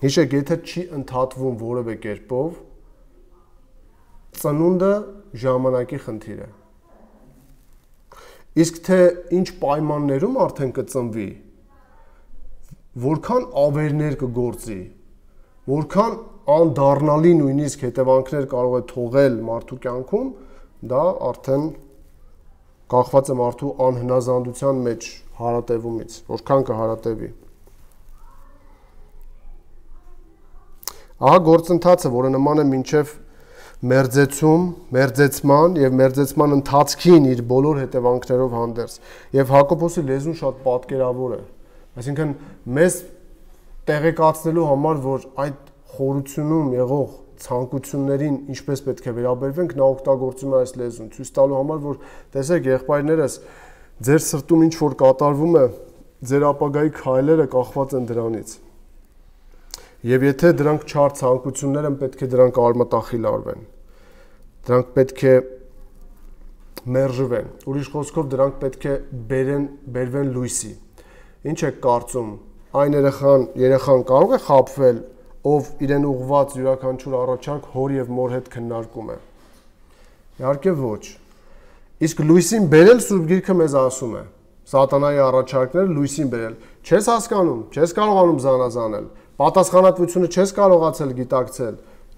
Հիշեք, եթե չի ընդհատվում որևէ կերպով, ծնունդը ժամանակի խնդիր է։ Իսկ թե ինչ պայմաններում արդեն կծնվի, որքան ավերներ կգործի, որքան անդառնալի նույնիսկ հետևանքներ կարող է թողել մարդու կյանքում, դա արդեն կախված է մարդու անհնազանդության մեջ հարատևումից, որքան կհարատևի։ Ահա գործընթացը, որը նման է մինչև մերձեցում, մերձեցման եւ մերձեցման ընթացքին իր բոլոր հետևանքներով հանդերձ։ Եվ Հակոբոսի լեզուն շատ պատկերավոր է։ Այսինքն մեզ տեղեկացնելու համար, որ այդ խորությունում եղող ցանկություններին ինչպես պետք է վերաբերվենք, նա օգտագործում է այս լեզուն, ցույց տալու համար, որ տեսեք, եղբայրներս, ձեր սրտում ինչ որ կատարվում է, ձեր ապագայի քայլերը կախված են դրանից։ Եվ եթե դրանք չար ցանկություններ են, պետք է դրանք արմատախիլ արվեն։ Դրանք պետք է մերժվեն։ Ուրիշ խոսքով դրանք պետք է բերվեն լույսի։ Ինչ եք կարծում, այն երեխան կարող է խաբվել, ով իրեն ուղված յուրաքանչյուր առաջարկ հոր եւ մոր հետ քննարկում է։ Իհարկե ոչ։ Իսկ լույսին բերել Սուրբ Գիրքը մեզ ասում է. Սատանայի առաջարկները լույսին բերել։ Չես հասկանում, չես կարողանում զանազանել, պատասխանատվությունը չես կարողացել գիտակցել,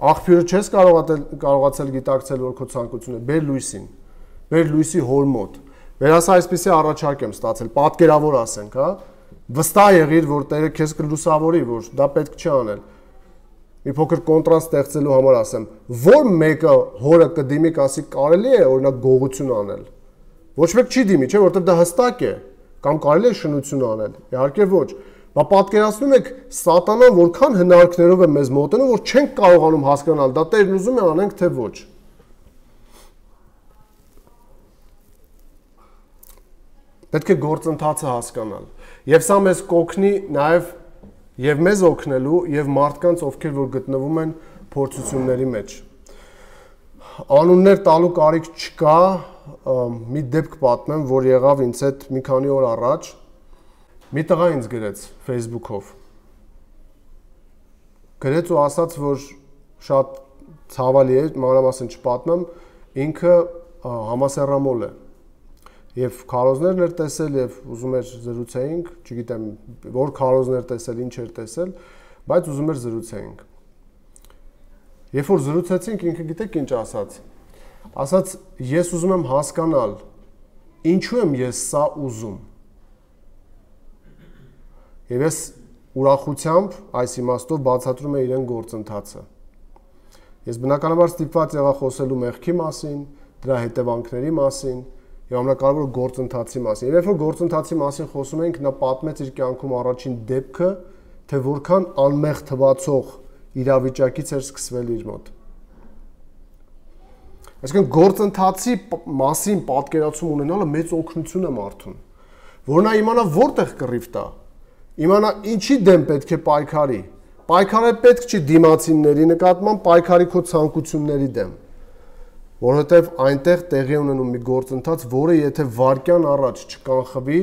աղբյուրը չես կարողացել գիտակցել, որ քո ցանկությունը բեր լույսին, բեր լույսի հոր մոտ, Վերասա այսպեսի առաջարկ եմ ստացել, պատկերավոր ասենք, հա։ Վստահ եղիր, որ Տերը քեզ կլուսավորի, որ դա պետք չի անել։ Մի փոքր կոնտրաստ ստեղծելու համար ասեմ, որ մեկը հորը կդիմի կասի կարելի է օրինակ գողություն անել։ Ոչ մեկ չի դիմի, չէ, որովհետև դա հստակ է, կամ կարելի է շնություն անել։ Իհարկե ոչ։ Բա պատկերացնում եք սատանան որքան հնարքներով է մեզ մոտենում, որ չենք կարողանում հասկանալ, դա Տերն ուզում է անենք, թե ոչ։ Պետք է գործընթացը հասկանալ։ Եվ սա մեզ կօգնի նաև եւ մեզ օգնելու եւ մարդկանց, ովքեր որ գտնվում են փորձությունների մեջ։ Անուններ տալու կարիք չկա, մի դեպք պատմեմ, որ եղավ ինձ հետ մի քանի օր առաջ։ Մի տղա ինձ գրեց Facebook-ով։ Գրեց ու ասաց, որ շատ ցավալի է, մանրամասն չպատմեմ, ինքը համասեռամոլ է։ Եվ քարոզներն էր տեսել եւ ուզում էր զրուցեինք, չգիտեմ որ քարոզներ տեսել, ինչ էր տեսել, բայց ուզում էր զրուցեինք։ Երբ որ զրուցեցինք, ինքը գիտեք ինչ ասաց։ Ասաց, ես ուզում եմ հասկանալ, ինչու եմ ես սա ուզում։ Եվ ես ուրախությամբ այս իմաստով բացատրում եմ իրեն գործընթացը։ Ես բնականաբար ստիպված եղա խոսելու մեղքի մասին, դրա հետևանքների մասին եւ ամենակարևորը գործընթացի մասին։ Եվ երբ որ գործընթացի մասին խոսում ենք, նա պատմեց իր կյանքում առաջին դեպքը, թե որքան անմեղ թվացող իրավիճակից էր սկսվել իր մոտ։ Այսինքն գործընթացի մասին պատկերացում ունենալը մեծ օգնություն է մարդուն, որ նա իմանա որտեղ կռիվ տա, իմանա ինչի դեմ պետք է պայքարի։ Պայքարը պետք չի դիմացինների նկատմամբ, պայքարի քո ցանկությունների դեմ։ Որովհետև այնտեղ տեղի ունենում մի գործընթաց, որը եթե վարկյան առաջ չկանխվի,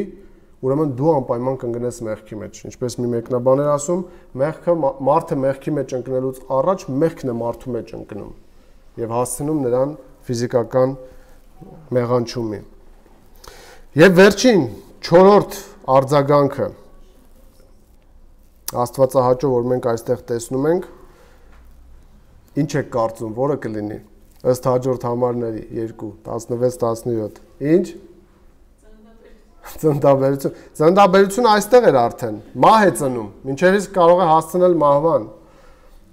ուրեմն դու անպայման կընկնես մեղքի մեջ։ Ինչպես մի մեկնաբան էր ասում, մարդը մեղքի մեջ ընկնելուց առաջ մեղքն է մարդու մեջ ընկնում եւ հասցնում նրան ֆիզիկական մեղանչումի։ Եվ վերջին 4-րդ արձագանքը Աստվածահաճո, որ մենք այստեղ տեսնում ենք, ինչ եք կարծում, որը կլինի։ Ըստ հաջորդ համարների 2, 16-17։ Ինչ? Ծննդաբերություն։ Ծննդաբերությունը այստեղ էր արդեն։ Մահ է ծնում, մինչև իսկ կարող է հասցնել մահվան։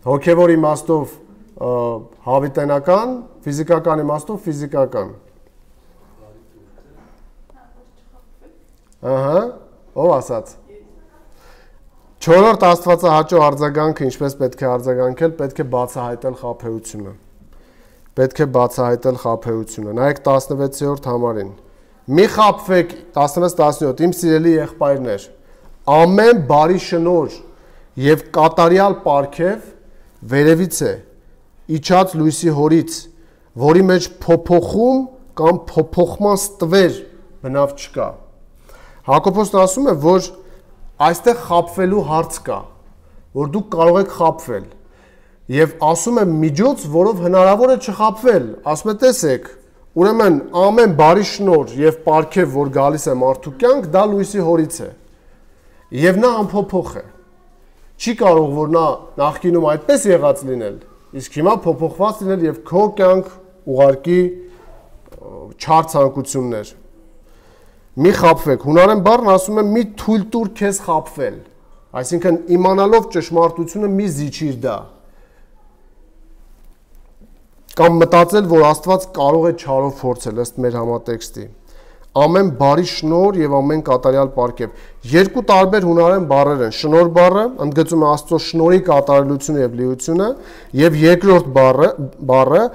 Հոգևոր իմաստով հավիտենական, ֆիզիկական իմաստով ֆիզիկական։ Ահա, ով ասաց։ 4-րդ Աստվածահաճո արձագանքը ինչպես պետք է արձագանքել, պետք է բացահայտել խաբեությունը։ Պետք է բացահայտել խաբեությունը։ Նայեք 16-րդ համարին։ Մի խաբվեք 16-17, իմ սիրելի եղբայրներ, ամեն բարի շնոր եւ կատարյալ պարգև վերևից է, իջած լույսի հորից, որի մեջ փոփոխում կամ փոփոխման ստվեր բնավ չկա։ Հակոբոսն ասում է, որ այստեղ խաբվելու հարց կա, որ դուք կարող եք խաբվել։ Եվ ասում է միջոց, որով հնարավոր է չխաբվել, ասում է տեսեք, ուրեմն ամեն բարի շնոր եւ պարգև, որ գալիս է մարդու կյանք, դա լույսի հորից է։ Եվ նա անփոփոխ է։ Չի կարող որ նա նախկինում այդպես եղած լինել, իսկ հիմա փոփոխված լինել եւ քո կյանք ուղարկի չար ցանկություններ։ Մի խաբվեք, հունարեն բառն ասում է մի թույլ տուր քեզ խաբվել, այսինքն իմանալով ճշմարտությունը մի զիջիր դա։ Կամ մտածել, որ Աստված կարող է չարով փորձել, ըստ մեր համատեքստի։ Ամեն բարի շնոր եւ ամեն կատարյալ պարգև։ Երկու տարբեր հունարեն բառեր են։ Շնոր բառը ընդգծում է Աստծո շնորհի կատարելությունը եւ լիությունը, եւ երկրորդ բառը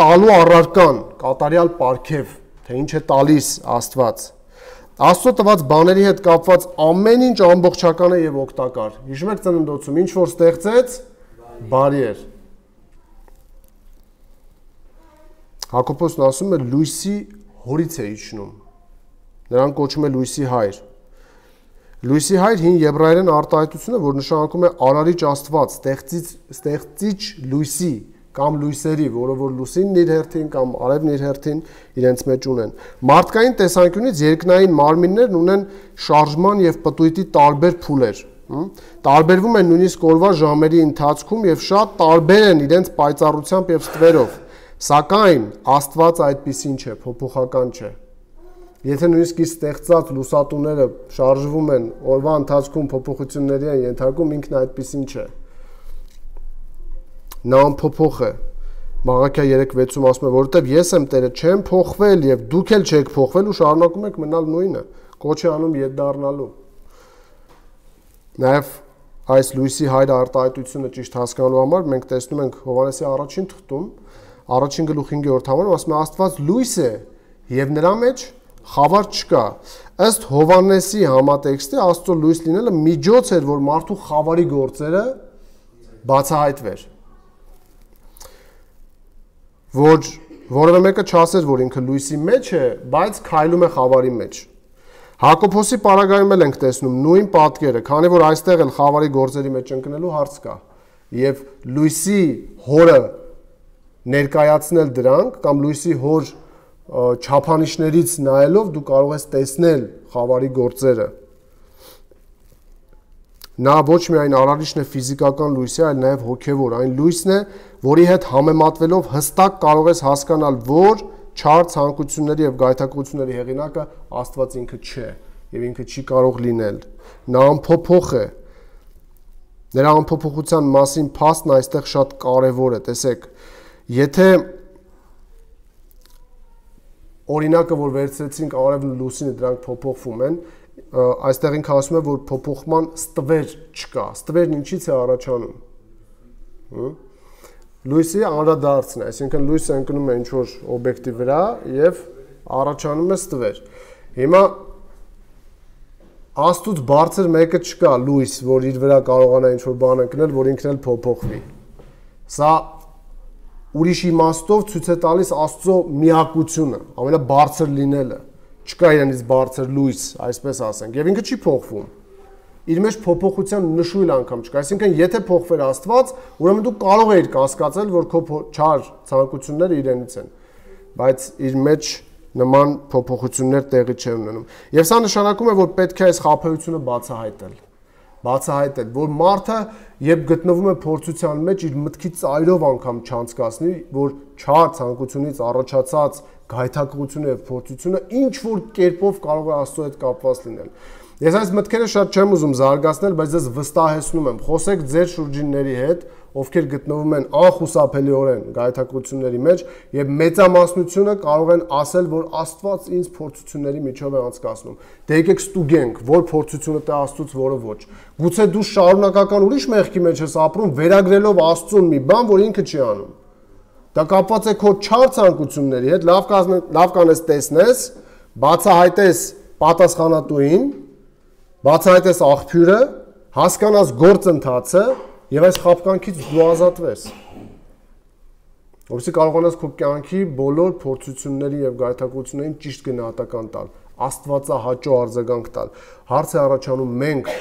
տալու առարկան, կատարյալ պարգև, թե ինչ է տալիս Աստված։ Աստծո տված բաների հետ կապված ամեն ինչ ամբողջական է եւ օգտակար։ Հիշում եք ծննդոցում, ինչ որ ստեղծեց, բարի էր։ Հակոբոսն ասում է լույսի հորից է իջնում։ Նրան կոչում է լույսի հայր։ Լույսի հայր հին եբրայերեն արտահայտությունը, որ նշանակում է արարիչ Աստված, ստեղծիչ լույսի կամ լույսերի, որը որ լուսինն իր հերթին կամ արևն իր հերթին իրենց մեջ ունեն։ Մարդկային տեսանկյունից երկնային մարմիններն ունեն շարժման եւ պտույտի տարբեր փուլեր։ Տարբերվում են նույնիսկ օրվա ժամերի ընթացքում եւ շատ տարբեր են իրենց պայծառությամբ եւ ստվերով։ Սակայն Աստված այդպիսին չէ, փոփոխական չէ։ Եթե նույնիսկ իր ստեղծած լուսատուները շարժվում են օրվա ընթացքում փոփոխությունների են ենթարկում, ինքն այդպեսին չէ։ Նա անփոփոխ է։ Մաղաքիա 3:6-ում ասում է, որովհետև ես եմ Տերը, չեմ փոխվել եւ դուք էլ չեք փոխվել ու շարունակում եք մնալ նույնը։ Կոչ է անում ետ դառնալու։ Նաեւ այս լույսի հայր արտահայտությունը ճիշտ հասկանալու համար մենք տեսնում ենք Հովհաննեսի առաջին թղթում, առաջին գլուխ 5-րդ համարում ասում է Աստված լույս է եւ նրա մեջ խավար չկա։ Ըստ Հովհաննեսի համատեքստի Աստծո լույս լինելը միջոց էր, որ մարդու խավարի գործերը բացահայտվեր։ Որ որևէ մեկը չասեր, որ ինքը լույսի մեջ է, բայց քայլում է խավարի մեջ։ Հակոբոսի պարագայում էլ ենք տեսնում նույն պատկերը, քանի որ այստեղ էլ խավարի գործերի մեջ ընկնելու հարց կա։ Եվ լույսի հորը ներկայացնել դրանք կամ լույսի հոր չափանիշներից նայելով դու կարող ես տեսնել խավարի գործերը։ Նա ոչ միայն արարիչն է ֆիզիկական լույսի, այլ նաև հոգևոր, այն լույսն է, որի հետ համեմատվելով հստակ կարող ես հասկանալ, որ չար ցանկությունների եւ գայթակղությունների հեղինակը Աստված ինքը չէ եւ ինքը չի կարող լինել։ Նա անփոփոխ է։ Նրա անփոփոխության մասին փաստն այստեղ շատ կարեւոր է, տեսեք։ Եթե օրինակը, որ վերցրեցինք արևն ու լուսինը, դրանք փոփոխվում են, այստեղ ինքը ասում է, որ փոփոխման ստվեր չկա։ Ստվերն ինչից է առաջանում։ Լույսի անդրադարձն է, այսինքն լույսը ընկնում է ինչ-որ օբյեկտի վրա եւ առաջանում է ստվեր։ Հիմա Աստծուց բարձր մեկը չկա լույս, որ իր վրա կարողանա ինչ-որ բան ընկնել, որ ինքն էլ փոփոխվի։ Սա ուրիշ իմաստով ցույց է տալիս Աստծո միակությունը, ամենաբարձր լինելը։ Չկա իրենից բարձր լույս, այսպես ասենք, եւ ինքը չի փոխվում։ Իր մեջ փոփոխության նշույլ անգամ չկա, այսինքն եթե փոխվեր Աստված, ուրեմն դու կարող ես կասկածել, որ քո չար ցանկությունները իրենից են, բայց իր մեջ նման փոփոխություններ տեղի չեն ունենում։ Եվ սա նշանակում է, որ պետք է այս խաբեությունը բացահայտել, որ մարդը երբ գտնվում է փորձության մեջ, իր մտքի ծայրով անգամ չանցկացնի, որ չար ցանկությունից առաջացած գայթակղությունը եւ փորձությունը ինչ որ կերպով կարող է Աստծո հետ կապված լինել։ Ես այս մտքերը շատ չեմ ուզում զարգացնել, բայց ես վստահեցնում եմ, խոսեք ձեր շուրջինների հետ, ովքեր գտնվում են անխուսափելիորեն գայթակղությունների մեջ եւ մեծամասնությունը կարող են ասել, որ Աստված ինձ փորձությունների միջով է անցկացնում։ Դե եկեք ստուգենք, որ փորձությունը տա Աստծուց, որը ոչ։ Գուցե դու շարունակական ուրիշ մեղքի մեջ ես ապրում, վերագրելով Աստծուն մի բան, որ ինքը չի անում։ Դա կապված է քո չար ցանկությունների հետ, լավ կանես տեսնես, բացահայտես պատասխանատուին, բացահայտես աղբյուրը, հասկանաս գործընթացը եւ այս խաբկանքից դու ազատվես։ Որովհետեւ կարողանաս քո կյանքի բոլոր փորձությունների եւ գայթակղություններին ճիշտ գնահատական տալ, Աստվածահաճո արձագանք տալ։ Հարց է առաջանում մենք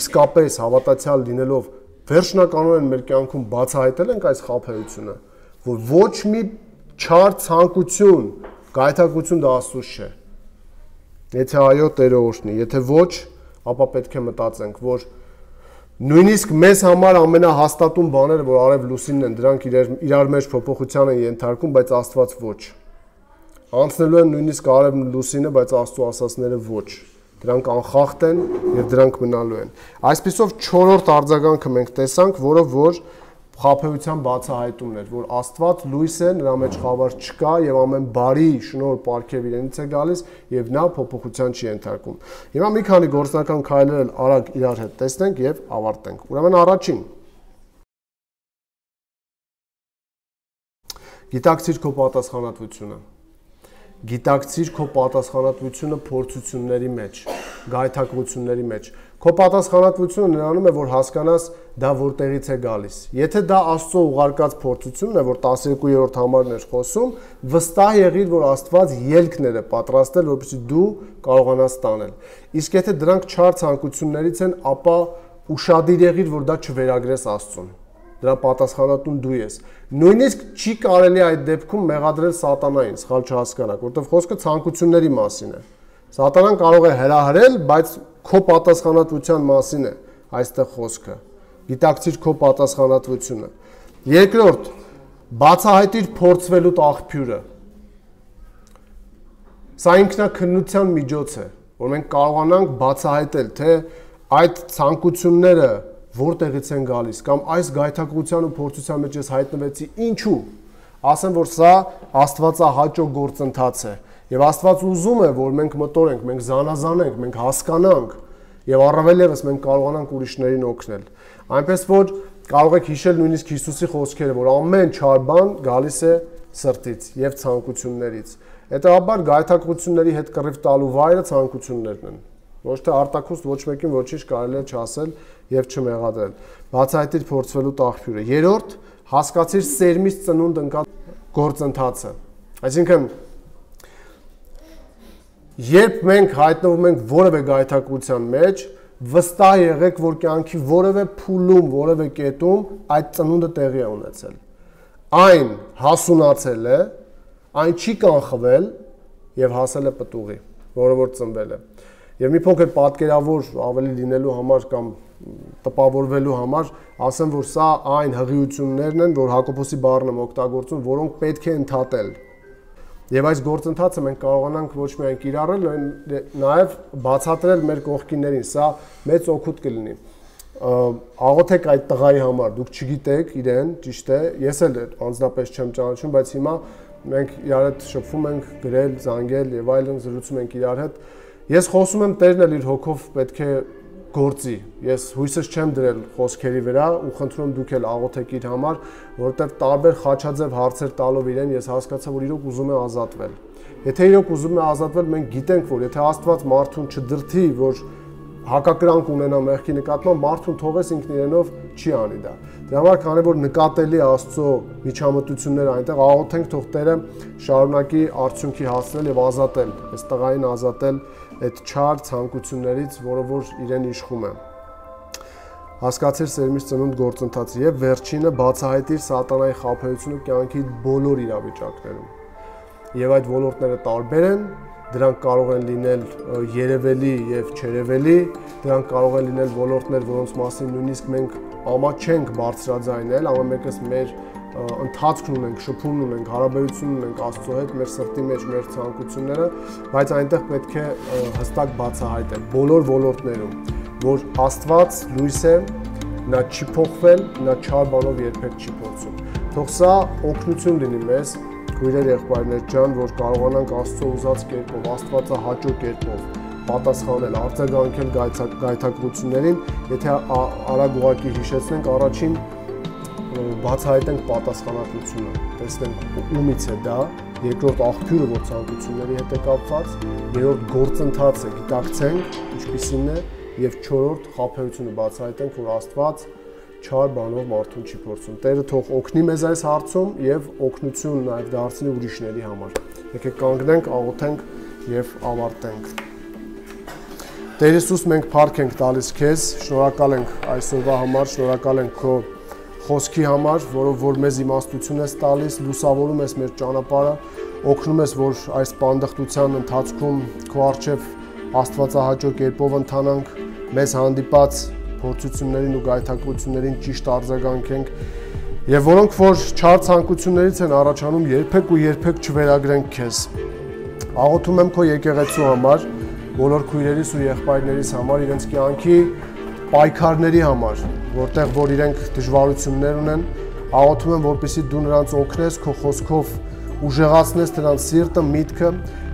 իսկապես հավատացյալ լինելով վերջնականորեն մեր կյանքում բացահայտել ենք այս խաբեությունը, որ ոչ մի չար ցանկություն, գայթակղություն դա Աստծուց չէ։ Եթե այո, Տերը օրհնի, եթե ոչ, ապա պետք է մտածենք, որ նույնիսկ մեզ համար ամենահաստատուն բաները, որ արև լուսինն են, դրանք իրար մեջ փոփոխության են ենթարկում, բայց Աստված ոչ։ Անցնելու են նույնիսկ արևն ու լուսինը, բայց Աստծո ասածները ոչ։ Դրանք անխախտ են եւ դրանք մնալու են։ Այսպիսով 4-րդ արձագանքը մենք տեսանք, որը որ խաբեության բացահայտումն էր, որ Աստված լույս է, նրա մեջ խավար չկա եւ ամեն բարի շնորհ պարգև իրենից է գալիս եւ նա փոփոխության չի ենթարկում։ Հիմա մի քանի գործնական քայլեր արագ իրար հետ տեսնենք եւ ավարտենք։ Ուրեմն առաջին գիտակցիր քո պատասխանատվությունը։ Գիտակցիր քո պատասխանատվությունը փորձությունների մեջ, գայթակղությունների մեջ։ Քո պատասխանատվությունը նրանում է, որ հասկանաս դա որտեղից է գալիս։ Եթե դա Աստծո ուղարկած փորձությունն է, որ 12-րդ համարն էր խոսում, վստահ եղիր, որ Աստված ելքներ է պատրաստել, որպեսզի դու կարողանաս տանել։ Իսկ եթե դրանք չար ցանկություններից են, ապա ուշադիր եղիր, որ դա չվերագրես Աստծուն։ Դրա պատասխանատուն դու ես։ Նույնիսկ չի կարելի այդ դեպքում մեղադրել սատանային, սխալ չհասկանաք, որովհետև խոսքը ցանկությունների մասին է։ Սատանան կարող է հրահրել, բայց քո պատասխանատվության մասին է այստեղ խոսքը։ Գիտակցիր քո պատասխանատվությունը։ Երկրորդ, բացահայտիր փորձվելու աղբյուրը։ Սա ինքնակնության միջոց է, որ մենք կարողանանք բացահայտել, թե այդ ցանկությունները որտեղից են գալիս, կամ այս գայթակղության ու փորձության մեջ ես հայտնվեցի ինչու։ Ասեմ, որ սա Աստվածահաճո գործընթաց է, եւ Աստված ուզում է, որ մենք մտորենք, մենք զանազանենք, մենք հասկանանք, եւ առավել ևս մենք կարողանանք ուրիշներին օգնել։ Այնպես որ կարող եք հիշել նույնիսկ Հիսուսի խոսքերը, որ ամեն չար բան գալիս է սրտից եւ ցանկություններից։ Հետևաբար գայթակղությունների հետ կռիվ տալու վայրը ցանկություններն են։ Ոչ թե արտաքուստ ոչ մեկին ոչինչ կարելի է չասել եւ չմեղադրել։ Բացահայտիր փորձվելու աղբյուրը։ Երրորդ, հասկացիր սերմից ծնունդ ընկած գործընթացը։ Այսինքն երբ մենք հայտնվում ենք որևէ գայթակղության մեջ, վստահ եղեք, որ կյանքի որևէ փուլում, որևէ կետում այդ ծնունդը տեղի է ունեցել։ Այն հասունացել է, այն չի կանխվել եւ հասել է պտուղի, որը որ ծնվել է։ Եվ մի փոքր պատկերավոր ավելի լինելու համար կամ տպավորվելու համար ասեմ, որ սա այն հղիություններն են, որ Հակոբոսի բառն եմ օգտագործում, որոնք պետք է ընդհատել։ Եվ այս գործընթացը մենք կարողանանք ոչ միայն կիրառել, նաև բացատրել մեր կողքիններին, սա մեծ օգուտ կլինի։ Աղոթեք այդ տղայի համար, դուք չգիտեք իրեն, ճիշտ է, ես էլ անձնապես չեմ ճանաչում, բայց հիմա մենք իրար հետ շփվում ենք, գրել, զանգել եւ այլն, զրուցում ենք իրար հետ։ Ես խոսում եմ, Տերն էլ իր հոգով պետք է գործի։ Ես հույսս չեմ դրել խոսքերի վրա ու խնդրում դուք էլ աղոթեք իր համար, որովհետև տարբեր խաչաձև հարցեր տալով իրեն ես հասկացա, որ իրոք ուզում է ազատվել։ Եթե իրոք ուզում է ազատվել, մենք գիտենք, որ եթե Աստված մարդուն չդրթի, որ հակակրանք ունենա մեղքի նկատմամբ, մարդուն թողես ինքն իրենով չի անի դա։ Դրա համար քանի որ նկատելի Աստծո միջամտությունները այնտեղ, աղոթենք թող Տերը շարունակի արդյունքի հասնել եւ ազատել, այս տղային ազատել այդ չար ցանկություններից, որը որ իրեն իշխում է։ Հասկացիր սերմից ծնունդ գործընթացը եւ վերջինը բացահայտիր սատանայի խաբեությունը կյանքի բոլոր իրավիճակներում։ Եվ այդ ոլորտները տարբեր են, դրանք կարող են լինել երևելի եւ չերևելի, դրանք կարող են լինել ոլորտներ, որոնց մասին նույնիսկ մենք ամա չենք բարձրաձայնել, ամեն մեկս մեր ընթացքն ունենք, շփումն ունենք, հարաբերություն ունենք Աստծո հետ, մեր սրտի մեջ մեր ցանկությունները, բայց այնտեղ պետք է հստակ բացահայտել բոլոր ոլորտներում, որ Աստված լույս է, նա չի փոխվել, նա չար բանով երբեք չի փոխվում։ Թող սա օգնություն լինի մեզ, քույրեր, եղբայրներ ջան, որ կարողանանք Աստծո ուզած կերպով, Աստվածահաճո կերպով պատասխանել, արձագանքել գայթակղություններին, եթե արագ ուղղակի հիշեցնենք, առաջին բացահայտենք պատասխանատվությունը, տեսնենք ումից է դա, երկրորդ աղբյուրը, որ ցանկությունների հետ է կապված, երրորդ գործընթացը գիտակցենք, ինչպիսին է, եւ չորրորդ խաբեությունը բացահայտենք, որ Աստված չար բանով մարդուն չի փորձում։ Տերը թող օգնի մեզ այս հարցում եւ օգնություն նաեւ դարձնի ուրիշների համար։ Եկեք կանգնենք, աղոթենք եւ ավարտենք։ Տեր Հիսուս, մենք փառք ենք տալիս քեզ, շնորհակալ ենք այսօրվա համար, շնորհակալ ենք քո խոսքի համար, որով որ մեզ իմաստություն ես տալիս, լուսավորում ես մեր ճանապարհը, օգնում ես, որ այս պանդխտության ընթացքում քո առջև Աստվածահաճո կերպով ընթանանք, մեզ հանդիպած փորձություններին ու գայթակղություններին ճիշտ արձագանքենք եւ որոնք որ չար ցանկություններից են առաջանում, երբեք ու երբեք չվերագրենք քեզ։ Աղոթում եմ քո եկեղեցու համար, բոլոր քույրերիս ու եղբայրներիս համար, իրենց կյանքի պայքարների համար, որտեղ որ իրենք դժվարություններ ունեն, աղոթում եմ, որպեսզի դու նրանց օգնես քո խոսքով ուժեղացնես նրանց սիրտը, միտքը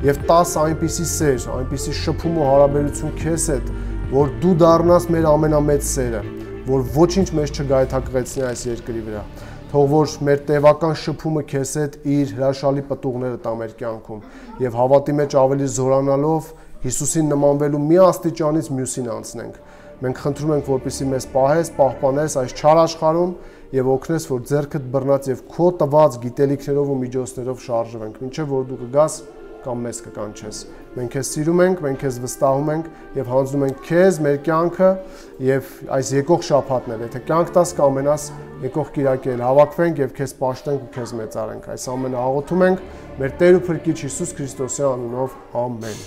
եւ տաս այնպիսի սեր, այնպիսի շփում ու հարաբերություն քեզ հետ, որ դու դառնաս մեր ամենամեծ սերը, որ ոչինչ մեզ չգայթակղեցնի այս երկրի վրա։ Թող որ մեր տևական շփումը քեզ հետ իր հրաշալի պտուղները տա մեր կյանքում եւ հավատի մեջ ավելի զորանալով Հիսուսին նմանվելու մի աստիճանից մյուսին անցնենք։ Մենք խնդրում ենք, որպեսզի մեզ պահես, պահպանես այս չար աշխարհում եւ օգնես, որ ձեռքդ բռնած եւ քո տված գիտելիքներով ու միջոցներով շարժվենք, մինչեւ որ դու կգաս կամ մեզ կկանչես։ Մենք քեզ սիրում ենք, մենք քեզ վստահում ենք եւ հանձնում ենք քեզ մեր կյանքը եւ այս եկող շաբաթներ, եթե կյանք տաս կամենաս եկող կիրակել հավաքվենք եւ քեզ պաշտենք ու քեզ մեծարենք։ Այս ամենը աղոթում ենք մեր Տեր ու Փրկիչ Հիսուս Քրիստոսի անունով, ամեն։